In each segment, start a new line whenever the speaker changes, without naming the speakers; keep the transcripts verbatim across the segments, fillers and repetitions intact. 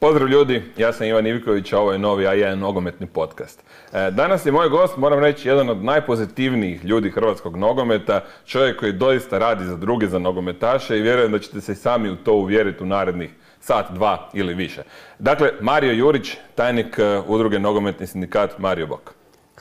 Pozdrav ljudi, ja sam Ivan Ivković, a ovo je novi A jedan nogometni podcast. Danas je moj gost, moram reći, jedan od najpozitivnijih ljudi hrvatskog nogometa, čovjek koji doista radi za druge, za nogometaše i vjerujem da ćete se i sami u to uvjeriti u narednih sat, dva ili više. Dakle, Mario Jurić, tajnik udruge Nogometni sindikat Mario Bok.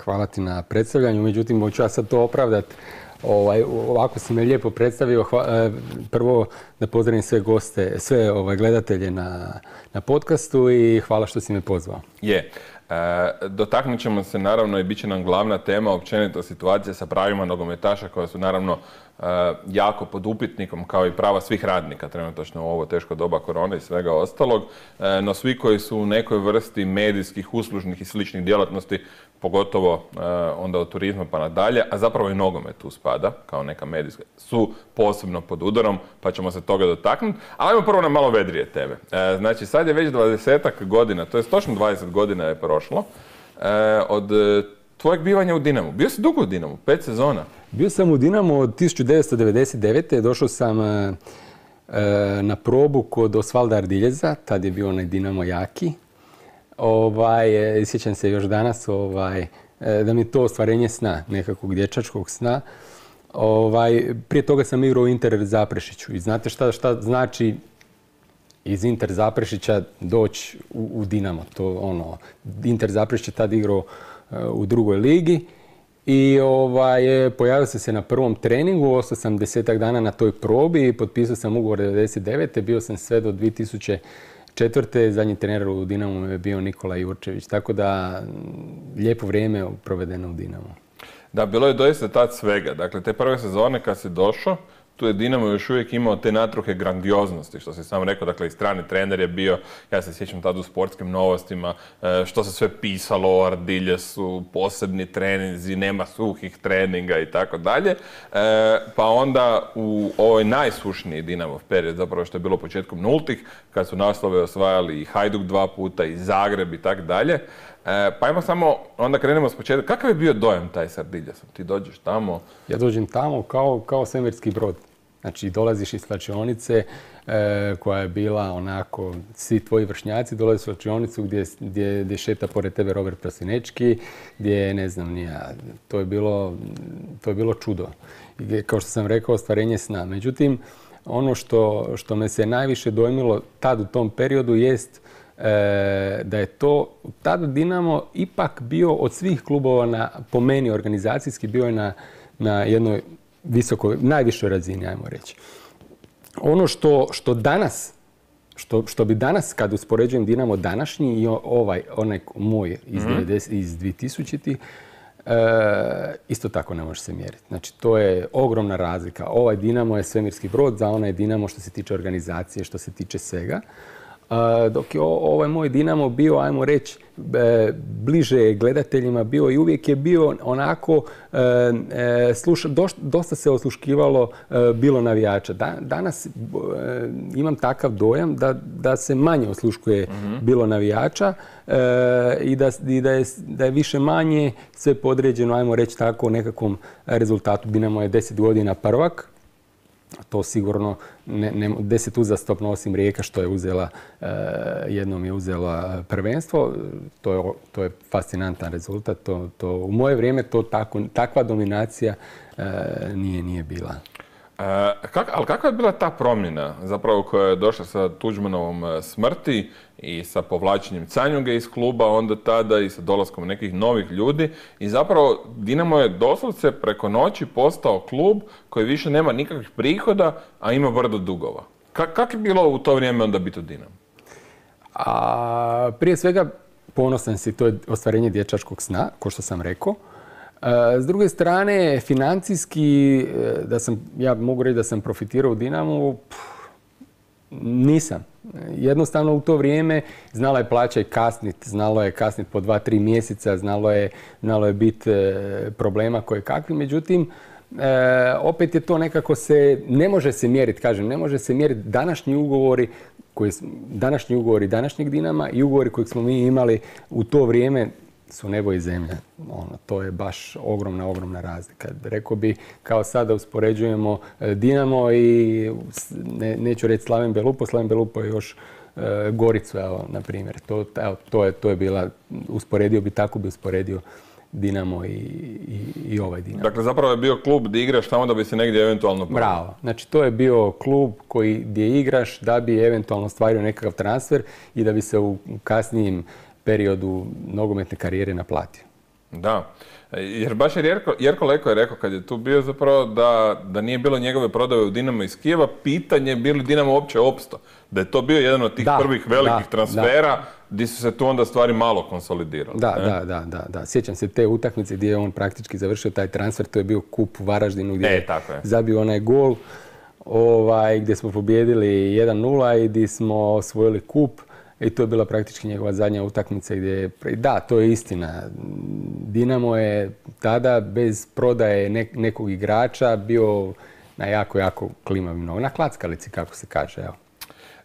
Hvala ti na predstavljanju, međutim, hoću ja sad to opravdati. Ovaj, ovako si me lijepo predstavio. Hva, prvo da pozdravim sve goste, sve ovaj, gledatelje na, na podcastu i hvala što si me pozvao.
Je. E, dotaknut ćemo se naravno i bit će nam glavna tema općenito situacija sa pravima nogometaša koja su naravno e, jako pod upitnikom kao i prava svih radnika trenutačno u ovo teško doba korone i svega ostalog. E, no svi koji su u nekoj vrsti medijskih, uslužnih i sličnih djelatnosti, pogotovo e, onda od turizma pa nadalje, a zapravo i nogomet tu spada kao neka medijska, su posebno pod udarom, pa ćemo se toga dotaknuti. Ali ajmo prvo na malo vedrije teme. E, znači sad je već dvadesetak godina, to je točno dvadeset godina je prošlo, e, od tvojeg bivanja u Dinamu. Bio si dugo u Dinamu, pet sezona.
Bio sam u Dinamu od tisuću devetsto devedeset devete. Došao sam e, na probu kod Osvalda Ardiljeza, tad je bio onaj Dinamo jaki. Ovaj, sjećam se još danas ovaj, da mi je to ostvarenje sna, nekakvog dječačkog sna. Ovaj, prije toga sam igrao u Inter Zaprešiću i znate šta, šta znači iz Inter Zaprešića doći u, u Dinamo. To, ono, Inter Zaprešić je tad igrao uh, u drugoj ligi i ovaj, pojavio sam se na prvom treningu, ostao sam desetak dana na toj probi i potpisao sam ugovor devedeset devete. Bio sam sve do dvije tisuće četvrte. Zadnji trener u Dinamu je bio Nikola Jurčević, tako da lijepo vrijeme provedeno u Dinamu.
Da, bilo je doista tad svega. Dakle, te prve sezone kad si došao, tu je Dinamo još uvijek imao te natruhe grandioznosti, što si sam rekao, dakle i strani trener je bio, ja se sjećam tad u sportskim novostima, što se sve pisalo o Ardiljesu, posebni treninzi, nema suhih treninga i tako dalje. Pa onda u ovoj najsušniji Dinamov period, zapravo što je bilo početkom nultih, kad su naslove osvajali i Hajduk dva puta i Zagreb i tako dalje. Pa ajmo samo, onda krenemo s početka. Kakav je bio dojam taj s Ardiljesom? Ti dođeš tamo?
Ja dođem tamo kao, kao svemirski brod. Znači, dolaziš iz slačionice e, koja je bila onako, svi tvoji vršnjaci dolaze u slačionicu gdje, gdje, gdje šeta pored tebe Robert Prosinečki, gdje, ne znam, nija, to je bilo, to je bilo čudo. I, kao što sam rekao, ostvarenje sna. Međutim, ono što, što me se najviše dojmilo tad u tom periodu jest e, da je to, tad Dinamo ipak bio od svih klubova, na, po meni organizacijski, bio je na, na jednoj visokoj, najvišoj razini, ajmo reći. Ono što, što danas, što, što bi danas, kad uspoređujem Dinamo današnji i ovaj, onaj moj iz, mm-hmm. devedeset, iz dvije tisućitih, e, isto tako ne može se mjeriti. Znači, to je ogromna razlika. Ovaj Dinamo je svemirski brod, za onaj Dinamo što se tiče organizacije, što se tiče svega. Uh, dok je ovaj moj Dinamo bio, ajmo reći, e, bliže gledateljima bio i uvijek je bio onako, e, e, sluša, doš, dosta se osluškivalo e, bilo navijača. Da, danas e, imam takav dojam da, da se manje osluškuje mm-hmm. bilo navijača e, i, da, i da, je, da je više manje sve podređeno, ajmo reći tako, nekakvom rezultatu. Dinamo je deset godina prvak. To sigurno ne, ne, deset uzastopno osim Rijeka što je uzela, e, jednom je uzela prvenstvo. To je, to je fascinantan rezultat. To, to, u moje vrijeme to tako, takva dominacija e, nije, nije bila.
E, kak, ali kakva je bila ta promjena zapravo koja je došla sa Tuđmanovom smrti i sa povlačenjem Canjuge iz kluba, onda tada i sa dolaskom nekih novih ljudi i zapravo Dinamo je doslovce preko noći postao klub koji više nema nikakvih prihoda, a ima brdo dugova. Kak, kak je bilo u to vrijeme onda biti u Dinamu?
A, prije svega ponosan si, to je ostvarenje dječačkog sna, kao što sam rekao. S druge strane, financijski, da sam, ja mogu reći da sam profitirao u Dinamu, pff, nisam. Jednostavno u to vrijeme znala je plaća i kasnit, znalo je kasnit po dva, tri mjeseca, znalo je, znalo je biti problema koje kakvi. Međutim, e, opet je to nekako se, ne može se mjeriti, kažem, ne može se mjeriti današnji ugovori, koji, današnji ugovori današnjeg Dinama i ugovori kojeg smo mi imali u to vrijeme su nebo i zemlja. Ono, to je baš ogromna, ogromna razlika. Rekao bi, kao sada uspoređujemo Dinamo i, ne, neću reći Slaven Belupo, Slaven Belupo je još Goricu, evo, na primjer. To, evo, to, je, to je bila, usporedio bi, tako bi usporedio Dinamo i, i, i ovaj Dinamo.
Dakle, zapravo je bio klub gdje igraš tamo da bi se negdje eventualno...
Bravo. Znači, to je bio klub koji, gdje igraš da bi eventualno ostvario nekakav transfer i da bi se u kasnijem periodu nogometne karijere naplatio.
Da. Jer baš je Jerko, Jerko Leko je rekao kad je tu bio zapravo da, da nije bilo njegove prodaje u Dinamo iz Kijeva, pitanje je bi li Dinamo uopće opstao. Da je to bio jedan od tih
da,
prvih velikih
da,
transfera
da.
Gdje su se tu onda stvari malo konsolidirale.
Da, da, da, da, da. Sjećam se te utakmice gdje je on praktički završio taj transfer, to je bio kup u Varaždinu gdje
e, tako je
zabio onaj gol, ovaj, gdje smo pobijedili jedan nula i gdje smo osvojili kup. I to je bila praktički njegova zadnja utakmica gdje je... Da, to je istina. Dinamo je tada bez prodaje nek- nekog igrača bio na jako, jako klimavim nogama. Na klackalici, kako se kaže, evo.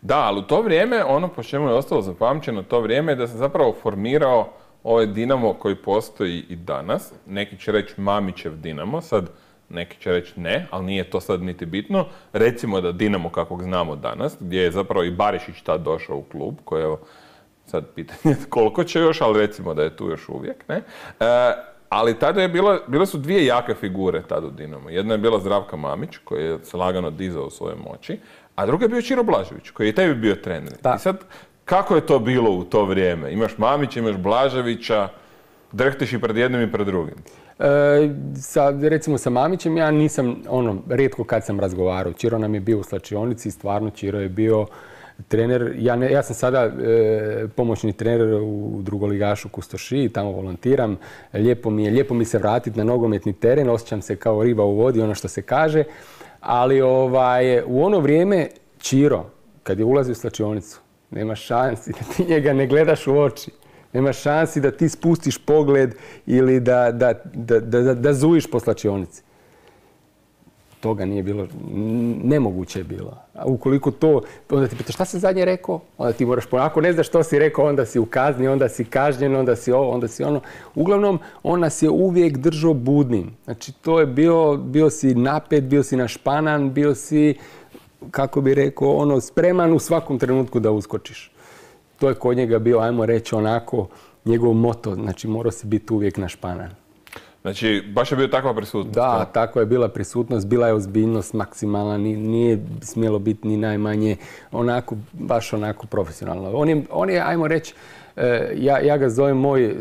Da, ali u to vrijeme, ono po čemu je ostalo zapamćeno, to vrijeme je da se zapravo formirao ovaj Dinamo koji postoji i danas. Neki će reći Mamićev Dinamo, sad neki će reći ne, ali nije to sad niti bitno. Recimo da Dinamo kakvog znamo danas, gdje je zapravo i Barišić tad došao u klub, koji je, sad pitanje koliko će još, ali recimo da je tu još uvijek, ne? E, ali tada je bilo, bile su dvije jake figure tada u Dinamo. Jedna je bila Zdravka Mamić, koji je se lagano dizao u svoje moći, a druga je bio Čiro Blažević, koji je tebi bio trener. Da. I sad, kako je to bilo u to vrijeme? Imaš Mamića, imaš Blaževića, drhtiš i pred jednim i pred drugim.
E, sa, recimo sa Mamićem ja nisam, ono, rijetko kad sam razgovarao. Čiro nam je bio u slačionici i stvarno Čiro je bio trener. Ja, ne, ja sam sada e, pomoćni trener u drugoligašu Kustošiji, tamo volontiram. Lijepo mi je, lijepo mi se vratiti na nogometni teren, osjećam se kao riba u vodi, ono što se kaže. Ali ovaj, u ono vrijeme Čiro, kad je ulazio u slačionicu, nema šansi da ti njega ne gledaš u oči. Nema šansi da ti spustiš pogled ili da, da, da, da, da zujiš po slačionici. Toga nije bilo, nemoguće je bilo. A ukoliko to, onda ti pitaš šta sam zadnje rekao, onda ti moraš, ako ne znaš što si rekao, onda si u kazni, onda si kažnjen, onda si ovo, onda si ono. Uglavnom, on nas je uvijek držao budnim. Znači, to je bio, bio si napet, bio si našpanan, bio si, kako bi rekao, ono, spreman u svakom trenutku da uskočiš. To je kod njega bio, ajmo reći, onako, njegov moto. Znači, morao si biti uvijek našpanan.
Znači, baš je bio takva prisutnost?
Da, tako je bila prisutnost, bila je ozbiljnost maksimalna, nije smjelo biti ni najmanje, onako, baš onako profesionalno. On je, on je ajmo reći, ja, ja ga zovem moj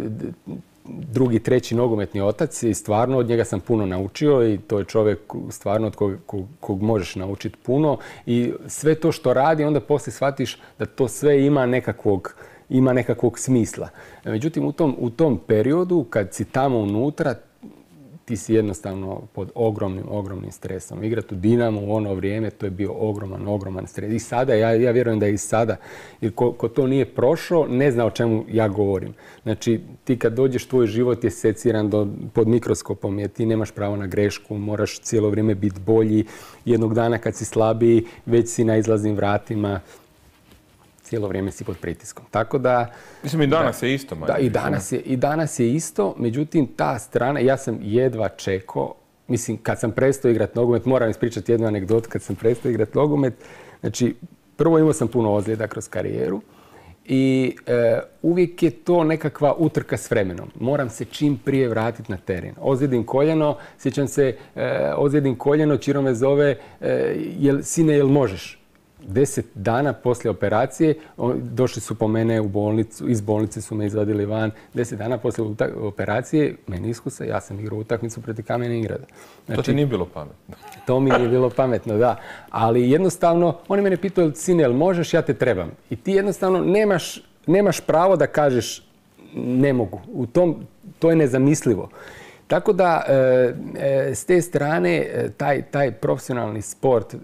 drugi, treći nogometni otac i stvarno od njega sam puno naučio i to je čovjek stvarno od kog, kog, kog možeš naučiti puno i sve to što radi onda poslije shvatiš da to sve ima nekakvog, ima nekakvog smisla. Međutim, u tom, u tom periodu kad si tamo unutra, ti si jednostavno pod ogromnim, ogromnim stresom. Igrati u Dinamo u ono vrijeme, to je bio ogroman, ogroman stres. I sada, ja, ja vjerujem da je i sada, jer ko, ko to nije prošao, ne zna o čemu ja govorim. Znači, ti kad dođeš, tvoj život je seciran do, pod mikroskopom, jer ti nemaš pravo na grešku, moraš cijelo vrijeme biti bolji. Jednog dana kad si slabiji, već si na izlaznim vratima, cijelo vrijeme si pod pritiskom. Tako da...
Mislim, i danas da, je isto.
Da, i danas je, i danas je isto. Međutim, ta strana, ja sam jedva čekao, mislim, kad sam prestao igrati nogomet, moram ispričati jednu anegdotu, kad sam prestao igrati nogomet, znači, prvo imao sam puno ozljeda kroz karijeru i e, uvijek je to nekakva utrka s vremenom. Moram se čim prije vratiti na teren. Ozljedim koljeno, sjećam se, e, ozljedim koljeno, Čiro me zove, e, jel, sine, jel možeš? Deset dana poslije operacije, došli su po mene u bolnicu, iz bolnice su me izvadili van. Deset dana poslije operacije, meniskusa, ja sam igrao utakmicu protiv Kamene Ingrada.
Znači, to ti nije bilo pametno.
To mi nije bilo pametno, da. Ali jednostavno, oni mene pitaju, sine, jel možeš, ja te trebam. I ti jednostavno nemaš, nemaš pravo da kažeš ne mogu. U tom, to je nezamislivo. Tako da, e, s te strane, taj, taj profesionalni sport e,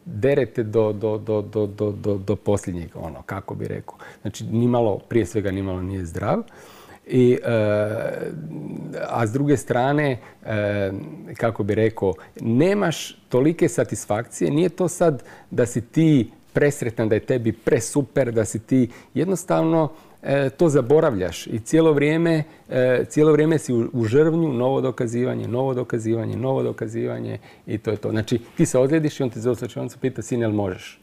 derete do, do, do, do, do, do posljednjeg, ono, kako bi rekao. Znači, nimalo, prije svega nimalo nije zdrav. I, e, a s druge strane, e, kako bi rekao, nemaš tolike satisfakcije. Nije to sad da si ti presretan, da je tebi presuper, da si ti jednostavno to zaboravljaš i cijelo vrijeme, cijelo vrijeme si u žrvnju, novo dokazivanje, novo dokazivanje, novo dokazivanje i to je to. Znači, ti se ozljediš i on ti za slačionicu pita, sine, jel možeš?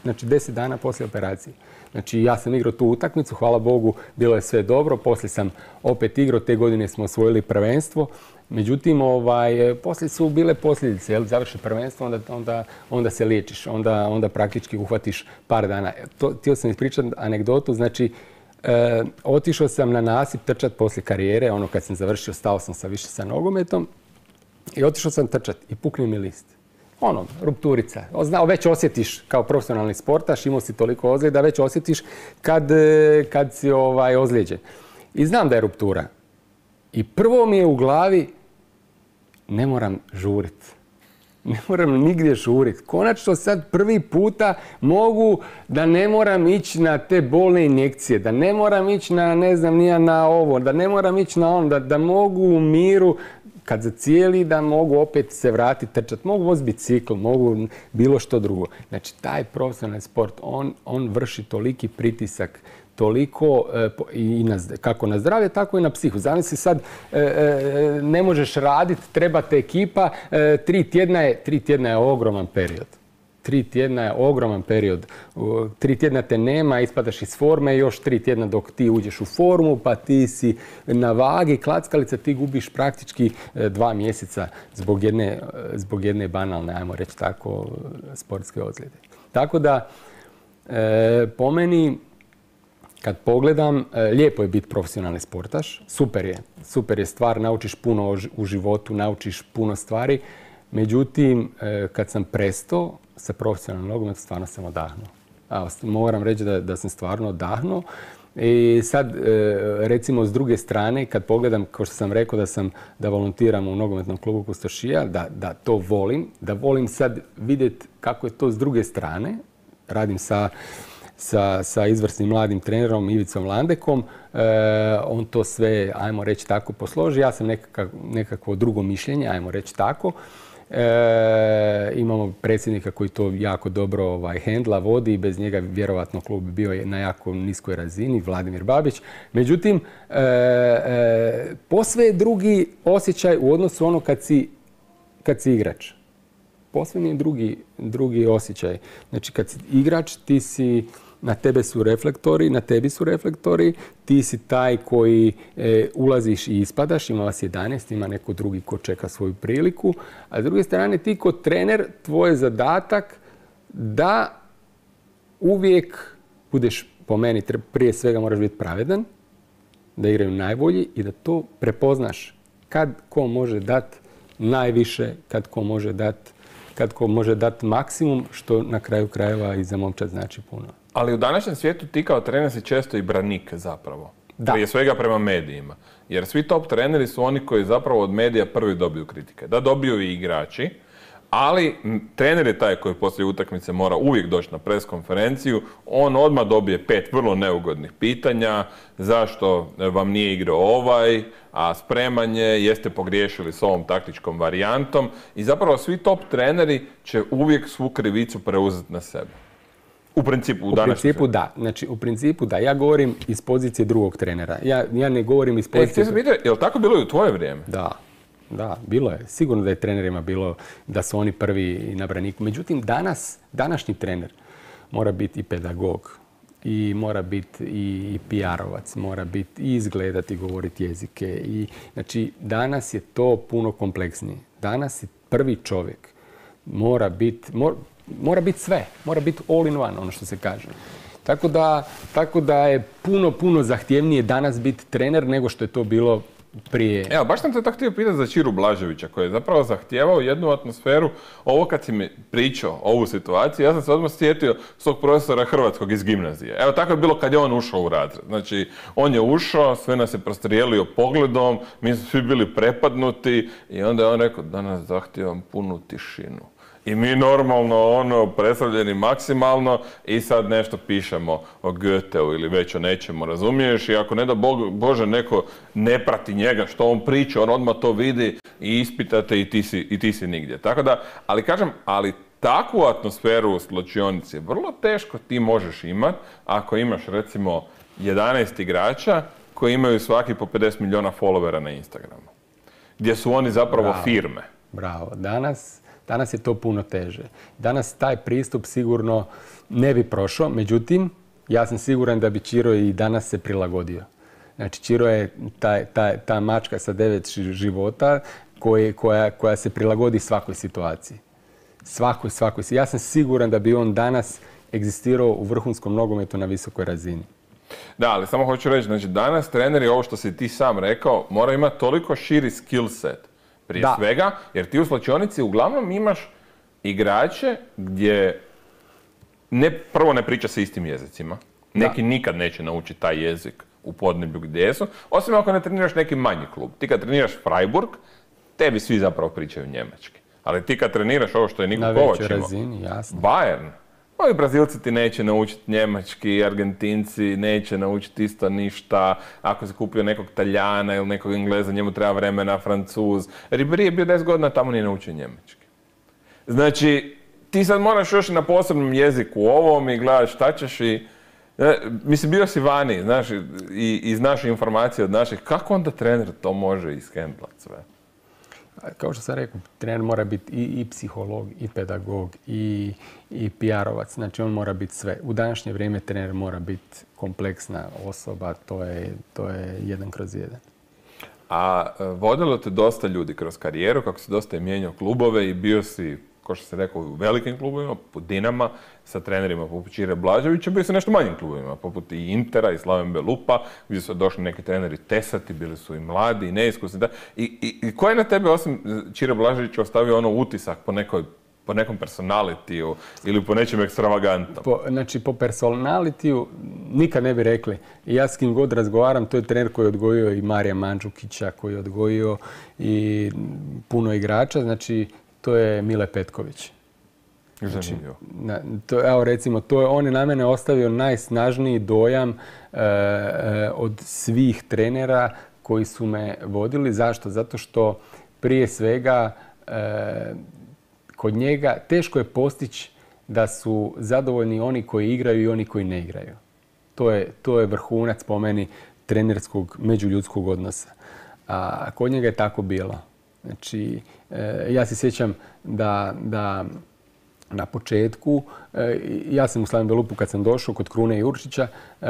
Znači deset dana poslije operacije. Znači ja sam igrao tu utakmicu, hvala Bogu, bilo je sve dobro, poslije sam opet igrao, te godine smo osvojili prvenstvo. Međutim, ovaj, poslije su bile posljedice, jel, završi prvenstvo, onda, onda, onda se liječiš, onda, onda praktički uhvatiš par dana. To, htio sam ispričati anegdotu, znači e, otišao sam na nasip trčat poslije karijere, ono kad sam završio, stao sam sa više sa nogometom i otišao sam trčat i pukne mi list. Ono, rupturica. Znao, već osjetiš kao profesionalni sportaš, imao si toliko ozljeda, već osjetiš kad, kad si ovaj, ozlijeđen. I znam da je ruptura. I prvo mi je u glavi, ne moram žurit. Ne moram nigdje žurit. Konačno sad prvi puta mogu da ne moram ići na te bolne injekcije, da ne moram ići na, ne znam, nija na ovo, da ne moram ići na ono, da, da mogu u miru, kad zacijeli, da mogu opet se vratiti trčati. Mogu voziti bicikl, mogu bilo što drugo. Znači, taj profesionalni sport, on, on vrši toliki pritisak, toliko e, i na, kako na zdravlje, tako i na psihu. Zamisli sad, e, e, ne možeš raditi, treba te ekipa, e, tri tjedna je, tri tjedna je ogroman period. Tri tjedna je ogroman period. Tri tjedna te nema, ispadaš iz forme, još tri tjedna dok ti uđeš u formu, pa ti si na vagi, klackalica, ti gubiš praktički dva mjeseca zbog jedne, zbog jedne banalne, ajmo reći tako, sportske ozljede. Tako da, e, po meni, kad pogledam, lijepo je biti profesionalni sportaš, super je, super je stvar, naučiš puno u životu, naučiš puno stvari, međutim, kad sam prestao sa profesionalnim nogometom, stvarno sam odahnuo. A, moram reći da, da sam stvarno odahnuo. I sad, recimo, s druge strane, kad pogledam, kao što sam rekao da sam da volontiram u nogometnom klubu Kustošija, da, da to volim, da volim sad vidjeti kako je to s druge strane. Radim sa, sa, sa izvrsnim mladim trenerom Ivicom Landekom. E, on to sve, ajmo reći tako, posloži. Ja sam nekakav, nekakvo drugo mišljenje, ajmo reći tako. E, imamo predsjednika koji to jako dobro ovaj, hendla, vodi i bez njega vjerovatno klub bi bio na jako niskoj razini, Vladimir Babić. Međutim, e, e, posve je drugi osjećaj u odnosu ono kad si, kad si igrač. Posve mi je drugi, drugi osjećaj. Znači kad si igrač, ti si, na tebe su reflektori, na tebi su reflektori, ti si taj koji e, ulaziš i ispadaš, ima vas jedanaest, ima neko drugi ko čeka svoju priliku, a s druge strane ti kao trener, tvoj je zadatak da uvijek budeš, po meni, prije svega moraš biti pravedan, da igraju najbolji i da to prepoznaš kad ko može dati najviše, kad ko može dati kad ko može dati maksimum, što na kraju krajeva i za momčad znači puno.
Ali u današnjem svijetu ti kao trener si često i branik zapravo.
Da.
Prije svega prema medijima. Jer svi top treneri su oni koji zapravo od medija prvi dobiju kritike. Da dobiju i igrači, ali trener je taj koji poslije utakmice mora uvijek doći na pres konferenciju. On odmah dobije pet vrlo neugodnih pitanja. Zašto vam nije igrao ovaj, a spremanje, jeste pogriješili s ovom taktičkom varijantom. I zapravo svi top treneri će uvijek svu krivicu preuzeti na sebe. U principu, u,
u principu da. Znači, u principu da. Ja govorim iz pozicije drugog trenera. Ja, ja ne govorim iz pozicije...
E, se vidio, je li tako bilo i u tvoje vrijeme?
Da. Da, bilo je. Sigurno da je trenerima bilo da su oni prvi na braniku. Međutim, danas, današnji trener mora biti i pedagog, i mora biti i P R-ovac, mora biti i izgledati, govoriti jezike. I, znači, danas je to puno kompleksnije. Danas je prvi čovjek. Mora biti... Mora, Mora biti sve, mora biti all in one, ono što se kaže. Tako da, tako da je puno, puno zahtjevnije danas biti trener nego što je to bilo prije.
Evo, baš sam te tako htio pitati za Čiru Blaževića, koji je zapravo zahtijevao jednu atmosferu. Ovo kad si mi pričao ovu situaciju, ja sam se odmah sjetio svog profesora hrvatskog iz gimnazije. Evo, tako je bilo kad je on ušao u razred. Znači, on je ušao, sve nas je prostrijelio pogledom, mi smo svi bili prepadnuti i onda je on rekao, danas zahtijevam punu tišinu. I mi normalno, ono, predstavljeni maksimalno i sad nešto pišemo o Goetheu ili već o nečemu, razumiješ? I ako ne da Bog, Bože neko ne prati njega što on priča, on odmah to vidi i ispitate i ti si, i ti si nigdje. Tako da, ali kažem, ali takvu atmosferu u slačionici vrlo teško ti možeš imati ako imaš recimo jedanaest igrača koji imaju svaki po pedeset milijuna followera na Instagramu. Gdje su oni zapravo
Bravo.
firme.
Bravo. Danas... Danas je to puno teže. Danas taj pristup sigurno ne bi prošao, međutim, ja sam siguran da bi Ćiro i danas se prilagodio. Znači, Ćiro je taj, taj, ta mačka sa devet života koje, koja, koja se prilagodi svakoj situaciji. Svakoj, svakoj. Ja sam siguran da bi on danas egzistirao u vrhunskom nogometu na visokoj razini.
Da, ali samo hoću reći, znači danas treneri, ovo što si ti sam rekao, mora imati toliko širi skill set prije
da.
svega, jer ti u slačionici uglavnom imaš igrače gdje ne, prvo ne priča se istim jezicima. Neki da. nikad neće naučiti taj jezik u podneblju gdje su, osim ako ne treniraš neki manji klub. Ti kad treniraš Freiburg, tebi svi zapravo pričaju njemački. Ali ti kad treniraš ovo što je Niko Kovač imao,
razini, jasno.
Bayern, ovi Brazilci ti neće naučiti njemački, Argentinci neće naučiti isto ništa, ako si kupio nekog Talijana ili nekog Engleza, njemu treba vremena, Francuz. Ribéry je bio deset godina, tamo nije naučio njemački. Znači, ti sad moraš još na posebnom jeziku ovom i gledaš šta ćeš i... Mislim, bio si vani, znaš, i, i znaš informacije od naših. Kako onda trener to može ishendlati sve?
Kao što sam rekao, trener mora biti i, i psiholog, i pedagog, i, i P R-ovac. Znači, on mora biti sve. U današnje vrijeme trener mora biti kompleksna osoba. To je, to je jedan kroz jedan.
A vodilo te dosta ljudi kroz karijeru, kako si dosta je mijenjao klubove i bio si, kao što se rekao, u velikim klubovima, poput Dinama, sa trenerima poput Ćire Blaževića, bio si nešto manjim klubovima, poput i Intera i Slaven Belupa, gdje su došli neki treneri tesati, bili su i mladi i neiskusni. Da. I, i, i ko je na tebe, osim Ćire Blaževića, ostavio ono utisak po nekoj po nekom personalitiju ili po nečem ekstravagantnom?
Po, znači, po personalitiju nikad ne bi rekli. I ja s kim god razgovaram, to je trener koji je odgojio i Marija Mandžukića, koji je odgojio i puno igrača. Znači, to je Mile Petković. Znači, na, to, evo recimo, to je, on je na mene ostavio najsnažniji dojam e, e, od svih trenera koji su me vodili. Zašto? Zato što prije svega e, kod njega teško je postići da su zadovoljni oni koji igraju i oni koji ne igraju. To je, to je vrhunac po meni trenerskog međuljudskog odnosa. A kod njega je tako bilo. Znači, e, ja se sjećam da, da na početku, e, ja sam u Slaven Belupu kad sam došao kod Krune Jurčića, e,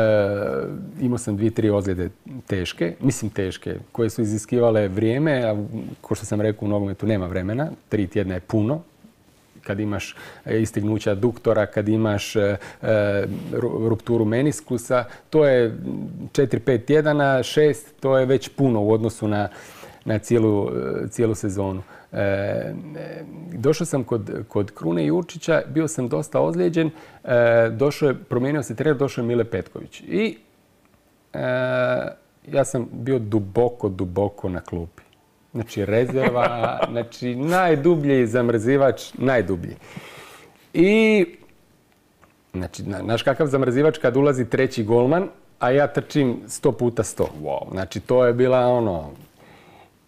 imao sam dvije, tri ozljede teške, mislim teške, koje su iziskivale vrijeme, a kao što sam rekao u nogometu nema vremena, tri tjedna je puno. Kad imaš istegnuća aduktora, kad imaš e, rupturu meniskusa, to je četiri pet tjedana, šest, to je već puno u odnosu na na cijelu, cijelu sezonu. E, došao sam kod, kod Krune Jurčića, bio sam dosta ozlijeđen, e, došao je, promijenio se trener, došao je Mile Petković. I e, ja sam bio duboko, duboko na klupi. Znači rezerva, znači najdublji zamrzivač, najdublji. I, znači, znaš kakav zamrzivač kad ulazi treći golman, a ja trčim sto puta sto.
Wow.
Znači to je bila ono...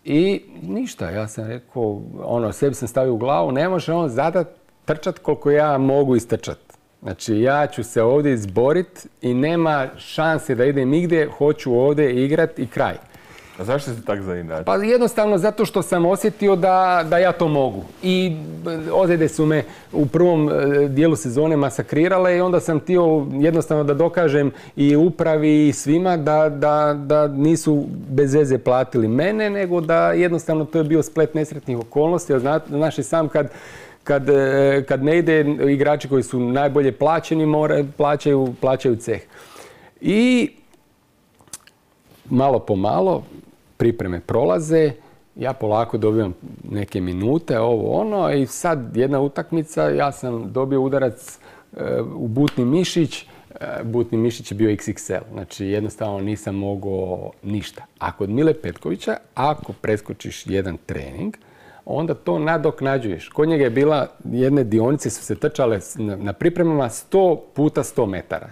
I ništa, ja sam rekao, ono, sebi sam stavio u glavu, ne može on zadat trčat koliko ja mogu istrčat. Znači, ja ću se ovdje izborit i nema šanse da idem nigdje, hoću ovdje igrat i kraj.
A zašto si tak zainačio?
Pa jednostavno zato što sam osjetio da, da ja to mogu. I ozljede su me u prvom dijelu sezone masakrirale i onda sam htio jednostavno da dokažem i upravi i svima da, da, da nisu bez veze platili mene, nego da jednostavno to je bio splet nesretnih okolnosti. Znaš i sam kad, kad, kad ne ide, igrači koji su najbolje plaćeni more, plaćaju, plaćaju ceh. I malo po malo pripreme prolaze, ja polako dobivam neke minute, ovo ono, i sad jedna utakmica, ja sam dobio udarac e, u butni mišić, e, butni mišić je bio iks iks el, znači jednostavno nisam mogao ništa. A kod Mile Petkovića, ako preskočiš jedan trening, onda to nadoknađuješ. Kod njega je bila, jedne dionice su se trčale na, na pripremama sto puta sto metara.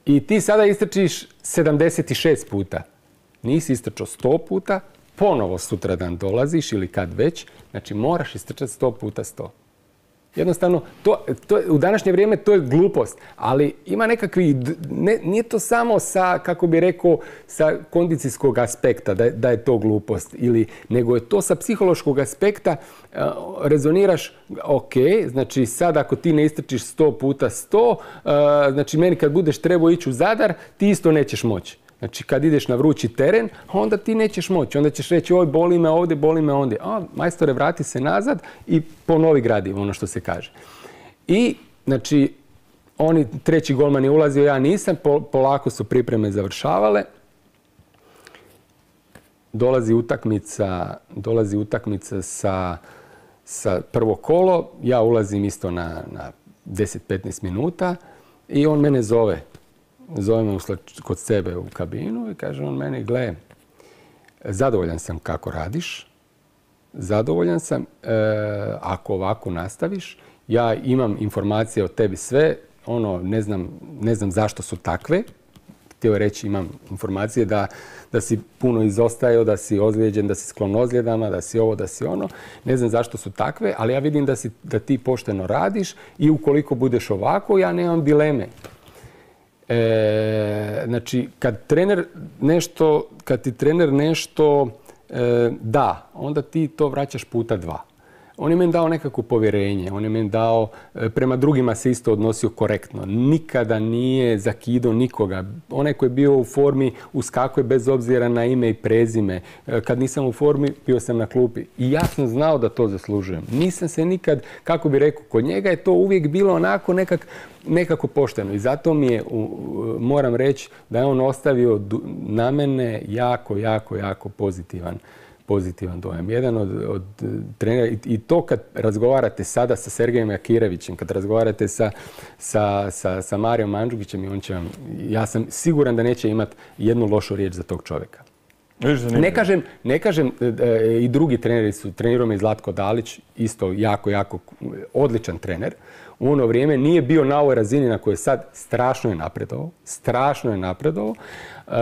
I ti sada istrčiš sedamdeset šest puta. Nisi istrčao sto puta, ponovo sutradan dolaziš ili kad već, znači moraš istrčati sto puta sto. Jednostavno, to, to, u današnje vrijeme to je glupost, ali ima nekakvi, ne, nije to samo sa, kako bi rekao, sa kondicijskog aspekta da, da je to glupost, ili, nego je to sa psihološkog aspekta, uh, rezoniraš, ok, znači sad ako ti ne istrčiš sto puta sto, uh, znači meni kad budeš trebao ići u Zadar, ti isto nećeš moći. Znači, kad ideš na vrući teren, onda ti nećeš moći. Onda ćeš reći, oj, boli me ovdje, boli me ondje. A, majstore, vrati se nazad i ponovi gradi, ono što se kaže. I, znači, oni, treći golman je ulazio, ja nisam, polako su pripreme završavale. Dolazi utakmica, dolazi utakmica sa, sa prvo kolo, ja ulazim isto na, na deset do petnaest minuta i on mene zove. Zove me kod sebe u kabinu i kaže on meni, gle, zadovoljan sam kako radiš, zadovoljan sam, e, ako ovako nastaviš, ja imam informacije o tebi sve, ono, ne znam, ne znam zašto su takve, htio reći imam informacije da, da si puno izostajao, da si ozlijeđen, da si sklon ozljedama, da si ovo, da si ono, ne znam zašto su takve, ali ja vidim da, si, da ti pošteno radiš i ukoliko budeš ovako, ja nemam dileme. E, znači, kad trener nešto, kad ti trener nešto e, da, onda ti to vraćaš puta dva. On je meni dao nekako povjerenje, on je meni dao, prema drugima se isto odnosio korektno. Nikada nije zakidao nikoga. Onaj koji je bio u formi uskakuje bez obzira na ime i prezime. Kad nisam u formi, bio sam na klupi. I ja sam znao da to zaslužujem. Nisam se nikad, kako bi rekao, kod njega je to uvijek bilo onako nekak, nekako pošteno. I zato mi je, moram reći, da je on ostavio na mene jako, jako, jako pozitivan pozitivan dojam. Jedan od, od trenera, i, i to kad razgovarate sada sa Sergejem Jakirevićem, kad razgovarate sa, sa, sa, sa Marijom Mandžukićem, i on će vam, ja sam siguran da neće imati jednu lošu riječ za tog čovjeka. Ne kažem, ne kažem e, i drugi treneri su, trenirao me i Zlatko Dalić, isto jako, jako odličan trener. U ono vrijeme nije bio na ovoj razini na kojoj sad, strašno je napredovao, strašno je napredovao. E,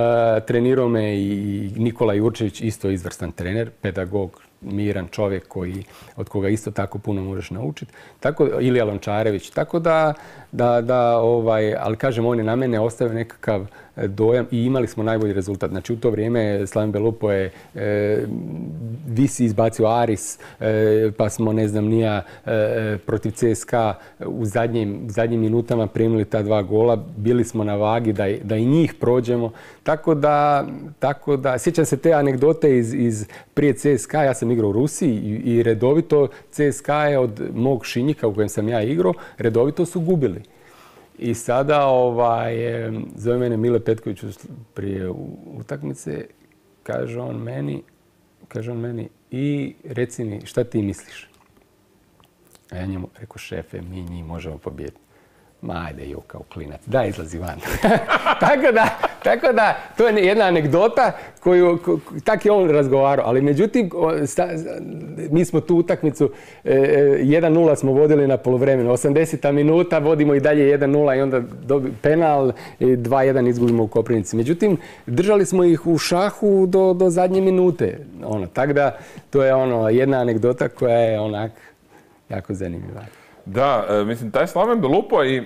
trenirao me i Nikola Jurčević, isto izvrstan trener, pedagog, miran čovjek koji, od koga isto tako puno možeš naučiti. Tako, Ilija Lončarević, tako da, da, da ovaj, ali kažem, on je na mene ostavio nekakav dojam i imali smo najbolji rezultat. Znači u to vrijeme Slaven Belupo je e, Visi izbacio Aris, e, pa smo, ne znam, nija e, protiv C S K A u zadnjim, zadnjim minutama primili ta dva gola. Bili smo na vagi da, da i njih prođemo. Tako da, tako da, sjećam se te anegdote iz, iz prije C S K A, ja sam igrao u Rusiji i, i redovito C S K A je od mog Šinjika u kojem sam ja igrao, redovito su gubili. I sada ovaj, zove mene Mile Petković prije utakmice, kaže on meni, kaže on meni, i reci mi šta ti misliš? A ja njemu rekao, šefe, mi njih možemo pobijediti. Ma ajde, jo, kao klinac, daj izlazi van. tako, da, tako da, to je jedna anegdota koju, ko, tak je on razgovarao. Ali međutim, sta, mi smo tu utakmicu, e, jedan nula smo vodili na poluvremenu. osamdeseta minuta, vodimo i dalje jedan nula i onda dobi, penal, i dva jedan izgubimo u Koprivnici. Međutim, držali smo ih u šahu do, do zadnje minute. Ono, tako da, to je ono, jedna anegdota koja je onak jako zanimljiva.
Da, e, mislim, taj Slaven Belupo i e,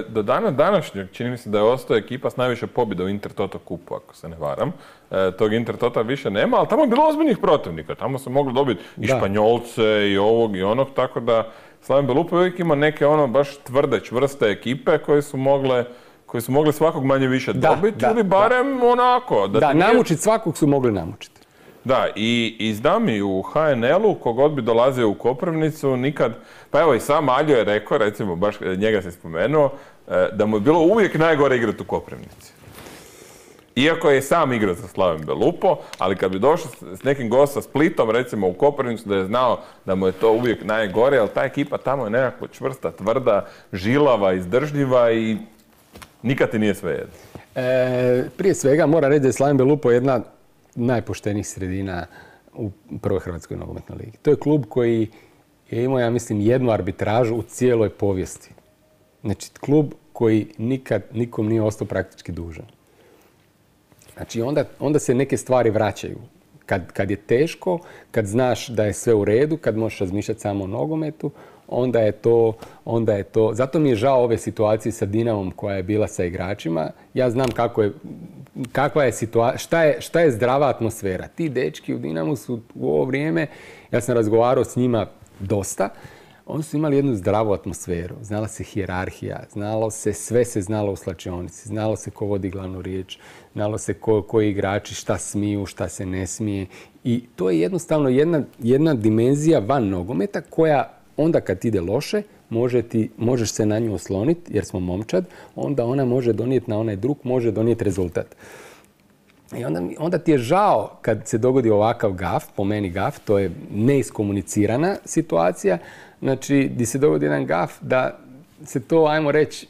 do dana današnjeg čini mi se da je ostao ekipa s najviše pobjeda u Intertoto kupu, ako se ne varam. E, tog Intertota više nema, ali tamo je bilo ozbiljnih protivnika. Tamo se moglo dobiti i da. Španjolce i ovog i onog, tako da Slaven Belupo uvijek ima neke ono baš tvrde, čvrste ekipe koje su mogle koji su mogli svakog manje više dobiti ili barem da. onako.
Da, da nije... namučiti svakog su mogli namučiti.
Da, i, i znam i u H N L-u, kogod bi dolazio u Koprivnicu, nikad, pa evo i sam Aljo je rekao, recimo, baš njega se spomenuo, da mu je bilo uvijek najgore igrati u Koprivnici. Iako je sam igrao za Slaven Belupo, ali kad bi došao s nekim gostom sa Splitom, recimo u Koprivnicu, da je znao da mu je to uvijek najgore, ali ta ekipa tamo je nekako čvrsta, tvrda, žilava, izdržljiva i nikad ti nije sve jedno.
E, prije svega moram reći da je Slaven Belupo jedna najpoštenijih sredina u prvoj Hrvatskoj nogometnoj ligi. To je klub koji je imao, ja mislim, jednu arbitražu u cijeloj povijesti. Znači, klub koji nikad nikom nije ostao praktički dužan. Znači, onda, onda se neke stvari vraćaju. Kad, kad je teško, kad znaš da je sve u redu, kad možeš razmišljati samo o nogometu, onda je to, onda je to... Zato mi je žao ove situacije sa Dinamom koja je bila sa igračima. Ja znam kako je, kakva je situacija, šta je, šta je zdrava atmosfera. Ti dečki u Dinamu su u ovo vrijeme, ja sam razgovarao s njima dosta, oni su imali jednu zdravu atmosferu. Znala se hijerarhija, znalo se, sve se znalo u slačionici, znalo se ko vodi glavnu riječ, znalo se ko, koji igrači šta smiju, šta se ne smije. I to je jednostavno jedna, jedna dimenzija van nogometa koja onda kad ide loše, može ti, možeš se na nju osloniti jer smo momčad, onda ona može donijeti na onaj drug, može donijeti rezultat. I onda, onda ti je žao kad se dogodi ovakav gaf, po meni gaf, to je neiskomunicirana situacija, znači gdje se dogodi jedan gaf da se to, ajmo reći,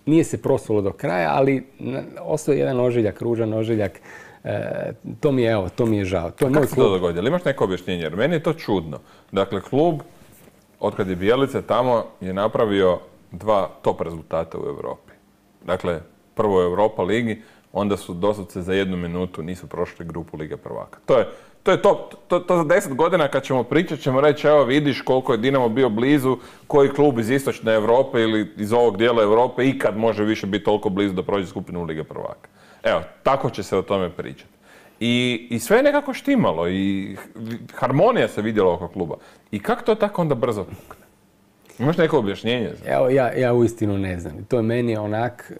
nije se prosulo do kraja, ali ostao je jedan ožiljak, ružan ožiljak. E, to mi je, evo, to mi je žao. To je
Kako
moj
se
klub.
to dogodilo? Imaš neko objašnjenje? Jer meni je to čudno. Dakle, klub, otkad je Bjelica tamo, je napravio dva top rezultata u Europi. Dakle, prvo u Europa ligi, onda su doslovce za jednu minutu nisu prošli grupu Lige prvaka. To je To je to, to, to za deset godina kad ćemo pričati ćemo reći evo vidiš koliko je Dinamo bio blizu, koji klub iz istočne Europe ili iz ovog dijela Europe ikad može više biti toliko blizu da prođe skupinu Lige prvaka. Evo, tako će se o tome pričati. I, i sve je nekako štimalo i harmonija se vidjela oko kluba. I kako to tako onda brzo pukne? Imaš neko objašnjenje?
Evo, ja, ja uistinu ne znam. To je meni onak,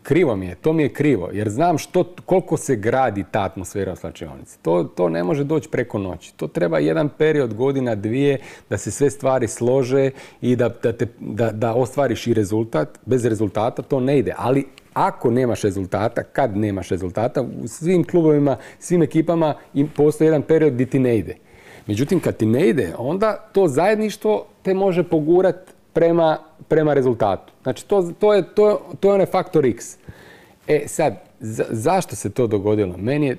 krivo mi je, to mi je krivo, jer znam što, koliko se gradi ta atmosfera u slačionici. To, to ne može doći preko noći. To treba jedan period, godina, dvije, da se sve stvari slože i da, da, te, da, da ostvariš i rezultat. Bez rezultata to ne ide, ali ako nemaš rezultata, kad nemaš rezultata, u svim klubovima, svim ekipama postoji jedan period gdje ti ne ide. Međutim, kad ti ne ide, onda to zajedništvo te može pogurati prema, prema rezultatu. Znači, to, to, je, to, to je onaj faktor X. E sad, za, zašto se to dogodilo? Meni je,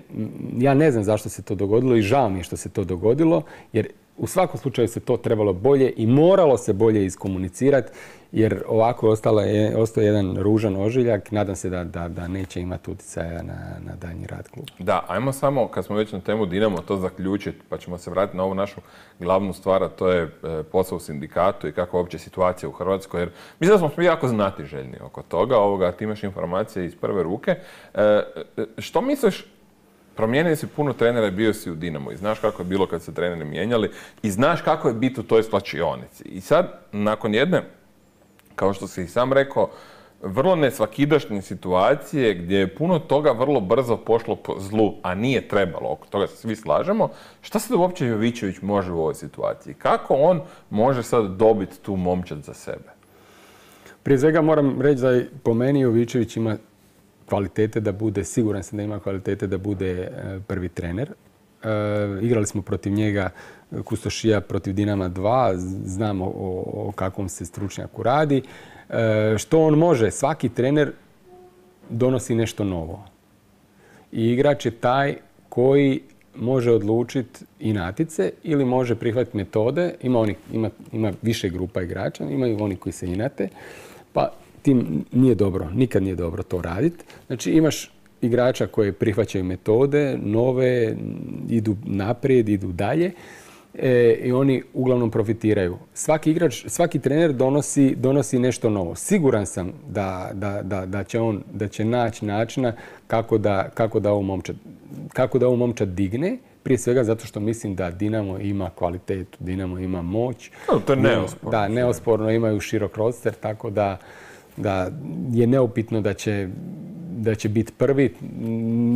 ja ne znam zašto se to dogodilo i žao mi je što se to dogodilo, jer u svakom slučaju se to trebalo bolje i moralo se bolje iskomunicirati, jer ovako je ostalo je, ostao jedan ružan ožiljak. Nadam se da, da, da neće imati utjecaja na, na daljnji rad kluba.
Da, ajmo samo, kad smo već na temu Dinamo, to zaključiti, pa ćemo se vratiti na ovu našu glavnu stvar, a to je e, posao u sindikatu i kakva je uopće situacija u Hrvatskoj. Jer mislim da smo svi jako znatiželjni oko toga, ovoga, ti imaš informacije iz prve ruke. E, e, što misliš, promijenili si puno trenera i bio si u Dinamo i znaš kako je bilo kad se treneri mijenjali i znaš kako je biti u toj slačionici. I sad, nakon jedne, kao što si i sam rekao, vrlo nesvakidašnje situacije gdje je puno toga vrlo brzo pošlo po zlu, a nije trebalo, oko toga se svi slažemo. Šta sad uopće Jovićević može u ovoj situaciji? Kako on može sad dobiti tu momčad za sebe?
Prije svega moram reći da po meni Jovićević ima kvalitete da bude, siguran sam da ima kvalitete da bude prvi trener. E, igrali smo protiv njega Kustošija protiv Dinama dva, znamo o, o kakvom se stručnjaku radi. E, što on može? Svaki trener donosi nešto novo. I igrač je taj koji može odlučiti inatice ili može prihvatiti metode. Ima, oni, ima, ima više grupa igrača, imaju oni koji se inate, pa tim nije dobro, nikad nije dobro to raditi. Znači imaš igrača koji prihvaćaju metode, nove, idu naprijed, idu dalje e, i oni uglavnom profitiraju. Svaki igrač, svaki trener donosi, donosi nešto novo. Siguran sam da, da, da, da će on da će naći načina kako da, kako da ovu momčad, kako da ovu momčad digne. Prije svega zato što mislim da Dinamo ima kvalitetu, Dinamo ima moć.
No, to je neosporno.
Da, neosporno imaju širok roster, tako da da je neupitno da će, da će biti prvi.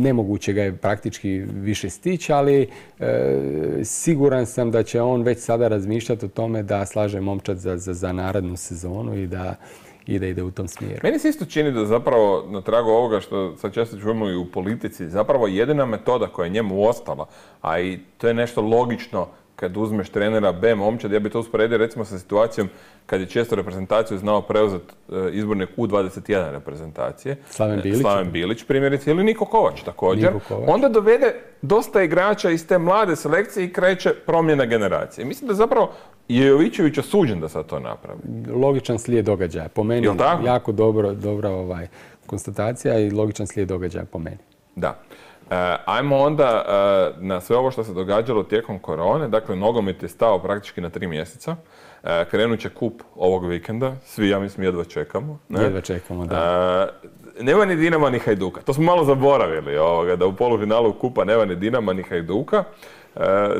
Nemoguće ga je praktički više stići, ali e, siguran sam da će on već sada razmišljati o tome da slaže momčad za, za, za narednu sezonu i da, i da ide u tom smjeru.
Meni se isto čini da zapravo, na tragu ovoga što sad često čujemo i u politici, zapravo jedina metoda koja je njemu ostala, a i to je nešto logično kad uzmeš trenera B momčad, ja bi to usporedio recimo sa situacijom kad je često reprezentaciju znao preuzeti izbornik U dvadeset jedan reprezentacije.
Slaven Bilić.
Slaven Bilić primjerice ili Niko Kovač također.
Niko Kovač.
Onda dovede dosta igrača iz te mlade selekcije i kreće promjena generacije. Mislim da zapravo je Jovićević osuđen da sad to napravi.
Logičan slijed događaja. Po meni jako dobro, dobra ovaj, konstatacija i logičan slijed događaja po meni.
Da. E, ajmo onda e, na sve ovo što se događalo tijekom korone. Dakle, nogomet je stao praktički na tri mjeseca. Krenut će kup ovog vikenda, svi, ja mislim, jedva čekamo. Ne?
Jedva čekamo, da.
Nema ni Dinama ni Hajduka. To smo malo zaboravili, ovoga, da u polufinalu kupa nema ni Dinama ni Hajduka.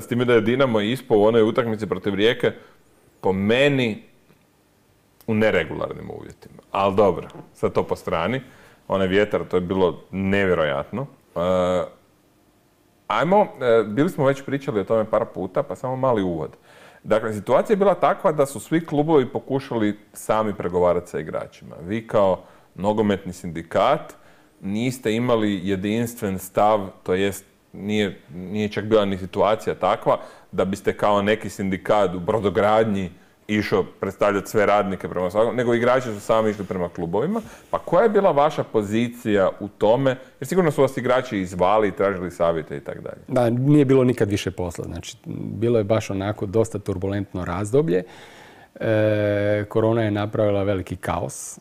S time da je Dinamo ispao u onoj utakmici protiv Rijeke po meni u neregularnim uvjetima. Ali dobro, sad to po strani. Onaj vjetar, to je bilo nevjerojatno. Ajmo, bili smo već pričali o tome par puta, pa samo mali uvod. Dakle, situacija je bila takva da su svi klubovi pokušali sami pregovarati sa igračima. Vi kao nogometni sindikat niste imali jedinstven stav, to jest nije, nije čak bila ni situacija takva da biste kao neki sindikat u brodogradnji išao predstavljati sve radnike prema svakom, nego igrači su sami išli prema klubovima. Pa koja je bila vaša pozicija u tome? Jer sigurno su vas igrači izvali i tražili savjete i tako dalje.
Da, nije bilo nikad više posla. Znači, bilo je baš onako dosta turbulentno razdoblje. E, korona je napravila veliki kaos. E,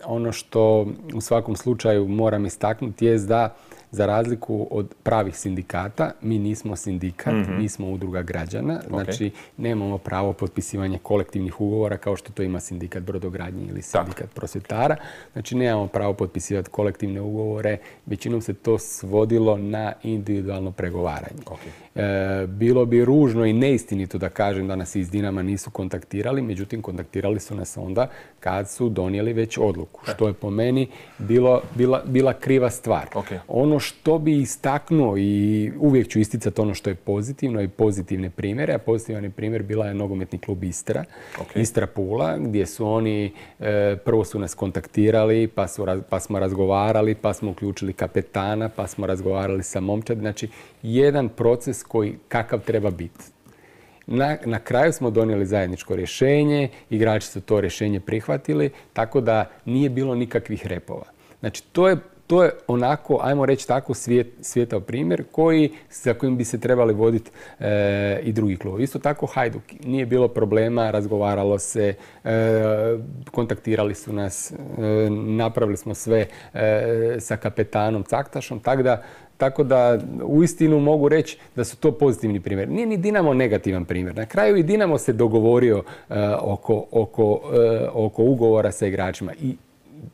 ono što u svakom slučaju moram istaknuti je da za razliku od pravih sindikata, mi nismo sindikat, mm-hmm. mi smo udruga građana. Znači, okay. nemamo pravo potpisivanja kolektivnih ugovora kao što to ima sindikat brodogradnje ili sindikat tak. prosvjetara. Znači, nemamo pravo potpisivati kolektivne ugovore. Većinom se to svodilo na individualno pregovaranje. Okay. E, bilo bi ružno i neistinito da kažem da nas iz Dinama nisu kontaktirali, međutim, kontaktirali su nas onda kad su donijeli već odluku, što je po meni bilo, bila, bila kriva stvar. Okay. Ono što bi istaknuo i uvijek ću isticati ono što je pozitivno i pozitivne primjere, a pozitivan primjer bila je nogometni klub Istra, okay. Istra Pula, gdje su oni, e, prvo su nas kontaktirali, pa, su, pa smo razgovarali, pa smo uključili kapetana, pa smo razgovarali sa momčadi. Znači, jedan proces koji kakav treba biti. Na, na kraju smo donijeli zajedničko rješenje, igrači su to rješenje prihvatili, tako da nije bilo nikakvih repova. Znači, to je To je onako, ajmo reći tako, svijet, svijetao primjer koji, za kojim bi se trebali voditi e, i drugi klubovi. Isto tako Hajduk. Nije bilo problema, razgovaralo se, e, kontaktirali su nas, e, napravili smo sve e, sa kapetanom Caktašom, tako da Tako da uistinu mogu reći da su to pozitivni primjer. Nije ni Dinamo negativan primjer. Na kraju i Dinamo se dogovorio uh, oko, oko, uh, oko ugovora sa igračima. I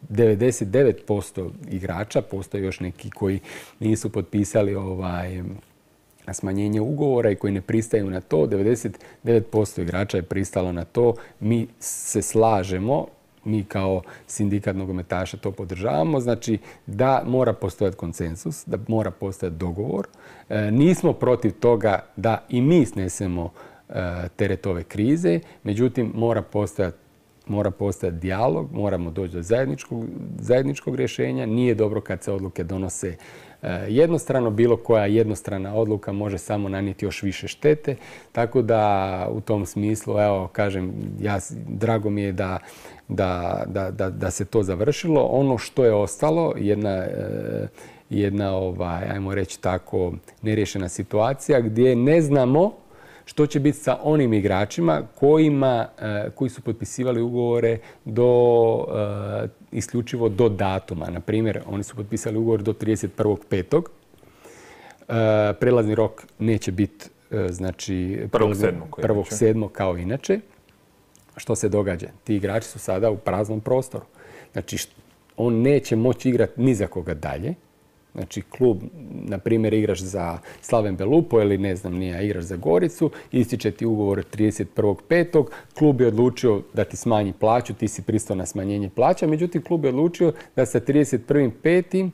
devedeset devet posto igrača, postoje još neki koji nisu potpisali ovaj, smanjenje ugovora i koji ne pristaju na to. devedeset devet posto igrača je pristalo na to. Mi se slažemo. Mi kao sindikat nogometaša to podržavamo, znači da mora postojati konsensus, da mora postojati dogovor. E, nismo protiv toga da i mi snesemo e, teret ove krize, međutim mora postojati mora postojati dijalog, moramo doći do zajedničkog, zajedničkog rješenja. Nije dobro kad se odluke donose e, jednostrano, bilo koja jednostrana odluka može samo nanijeti još više štete, tako da u tom smislu, evo, kažem, ja, drago mi je da Da, da, da, da se to završilo. Ono što je ostalo, jedna, jedna ovaj, ajmo reći tako, neriješena situacija gdje ne znamo što će biti sa onim igračima kojima, koji su potpisivali ugovore do, isključivo do datuma. Na primjer, oni su potpisali ugovor do trideset prvog petog Prelazni rok neće biti znači, prvog sedmog kao inače. Što se događa? Ti igrači su sada u praznom prostoru. Znači, on neće moći igrati ni za koga dalje. Znači, klub, na primjer, igraš za Slaven Belupo ili ne znam, nije, igraš za Goricu, ističe ti ugovor trideset prvog petog Klub je odlučio da ti smanji plaću, ti si pristao na smanjenje plaća, međutim, klub je odlučio da sa trideset prvog petog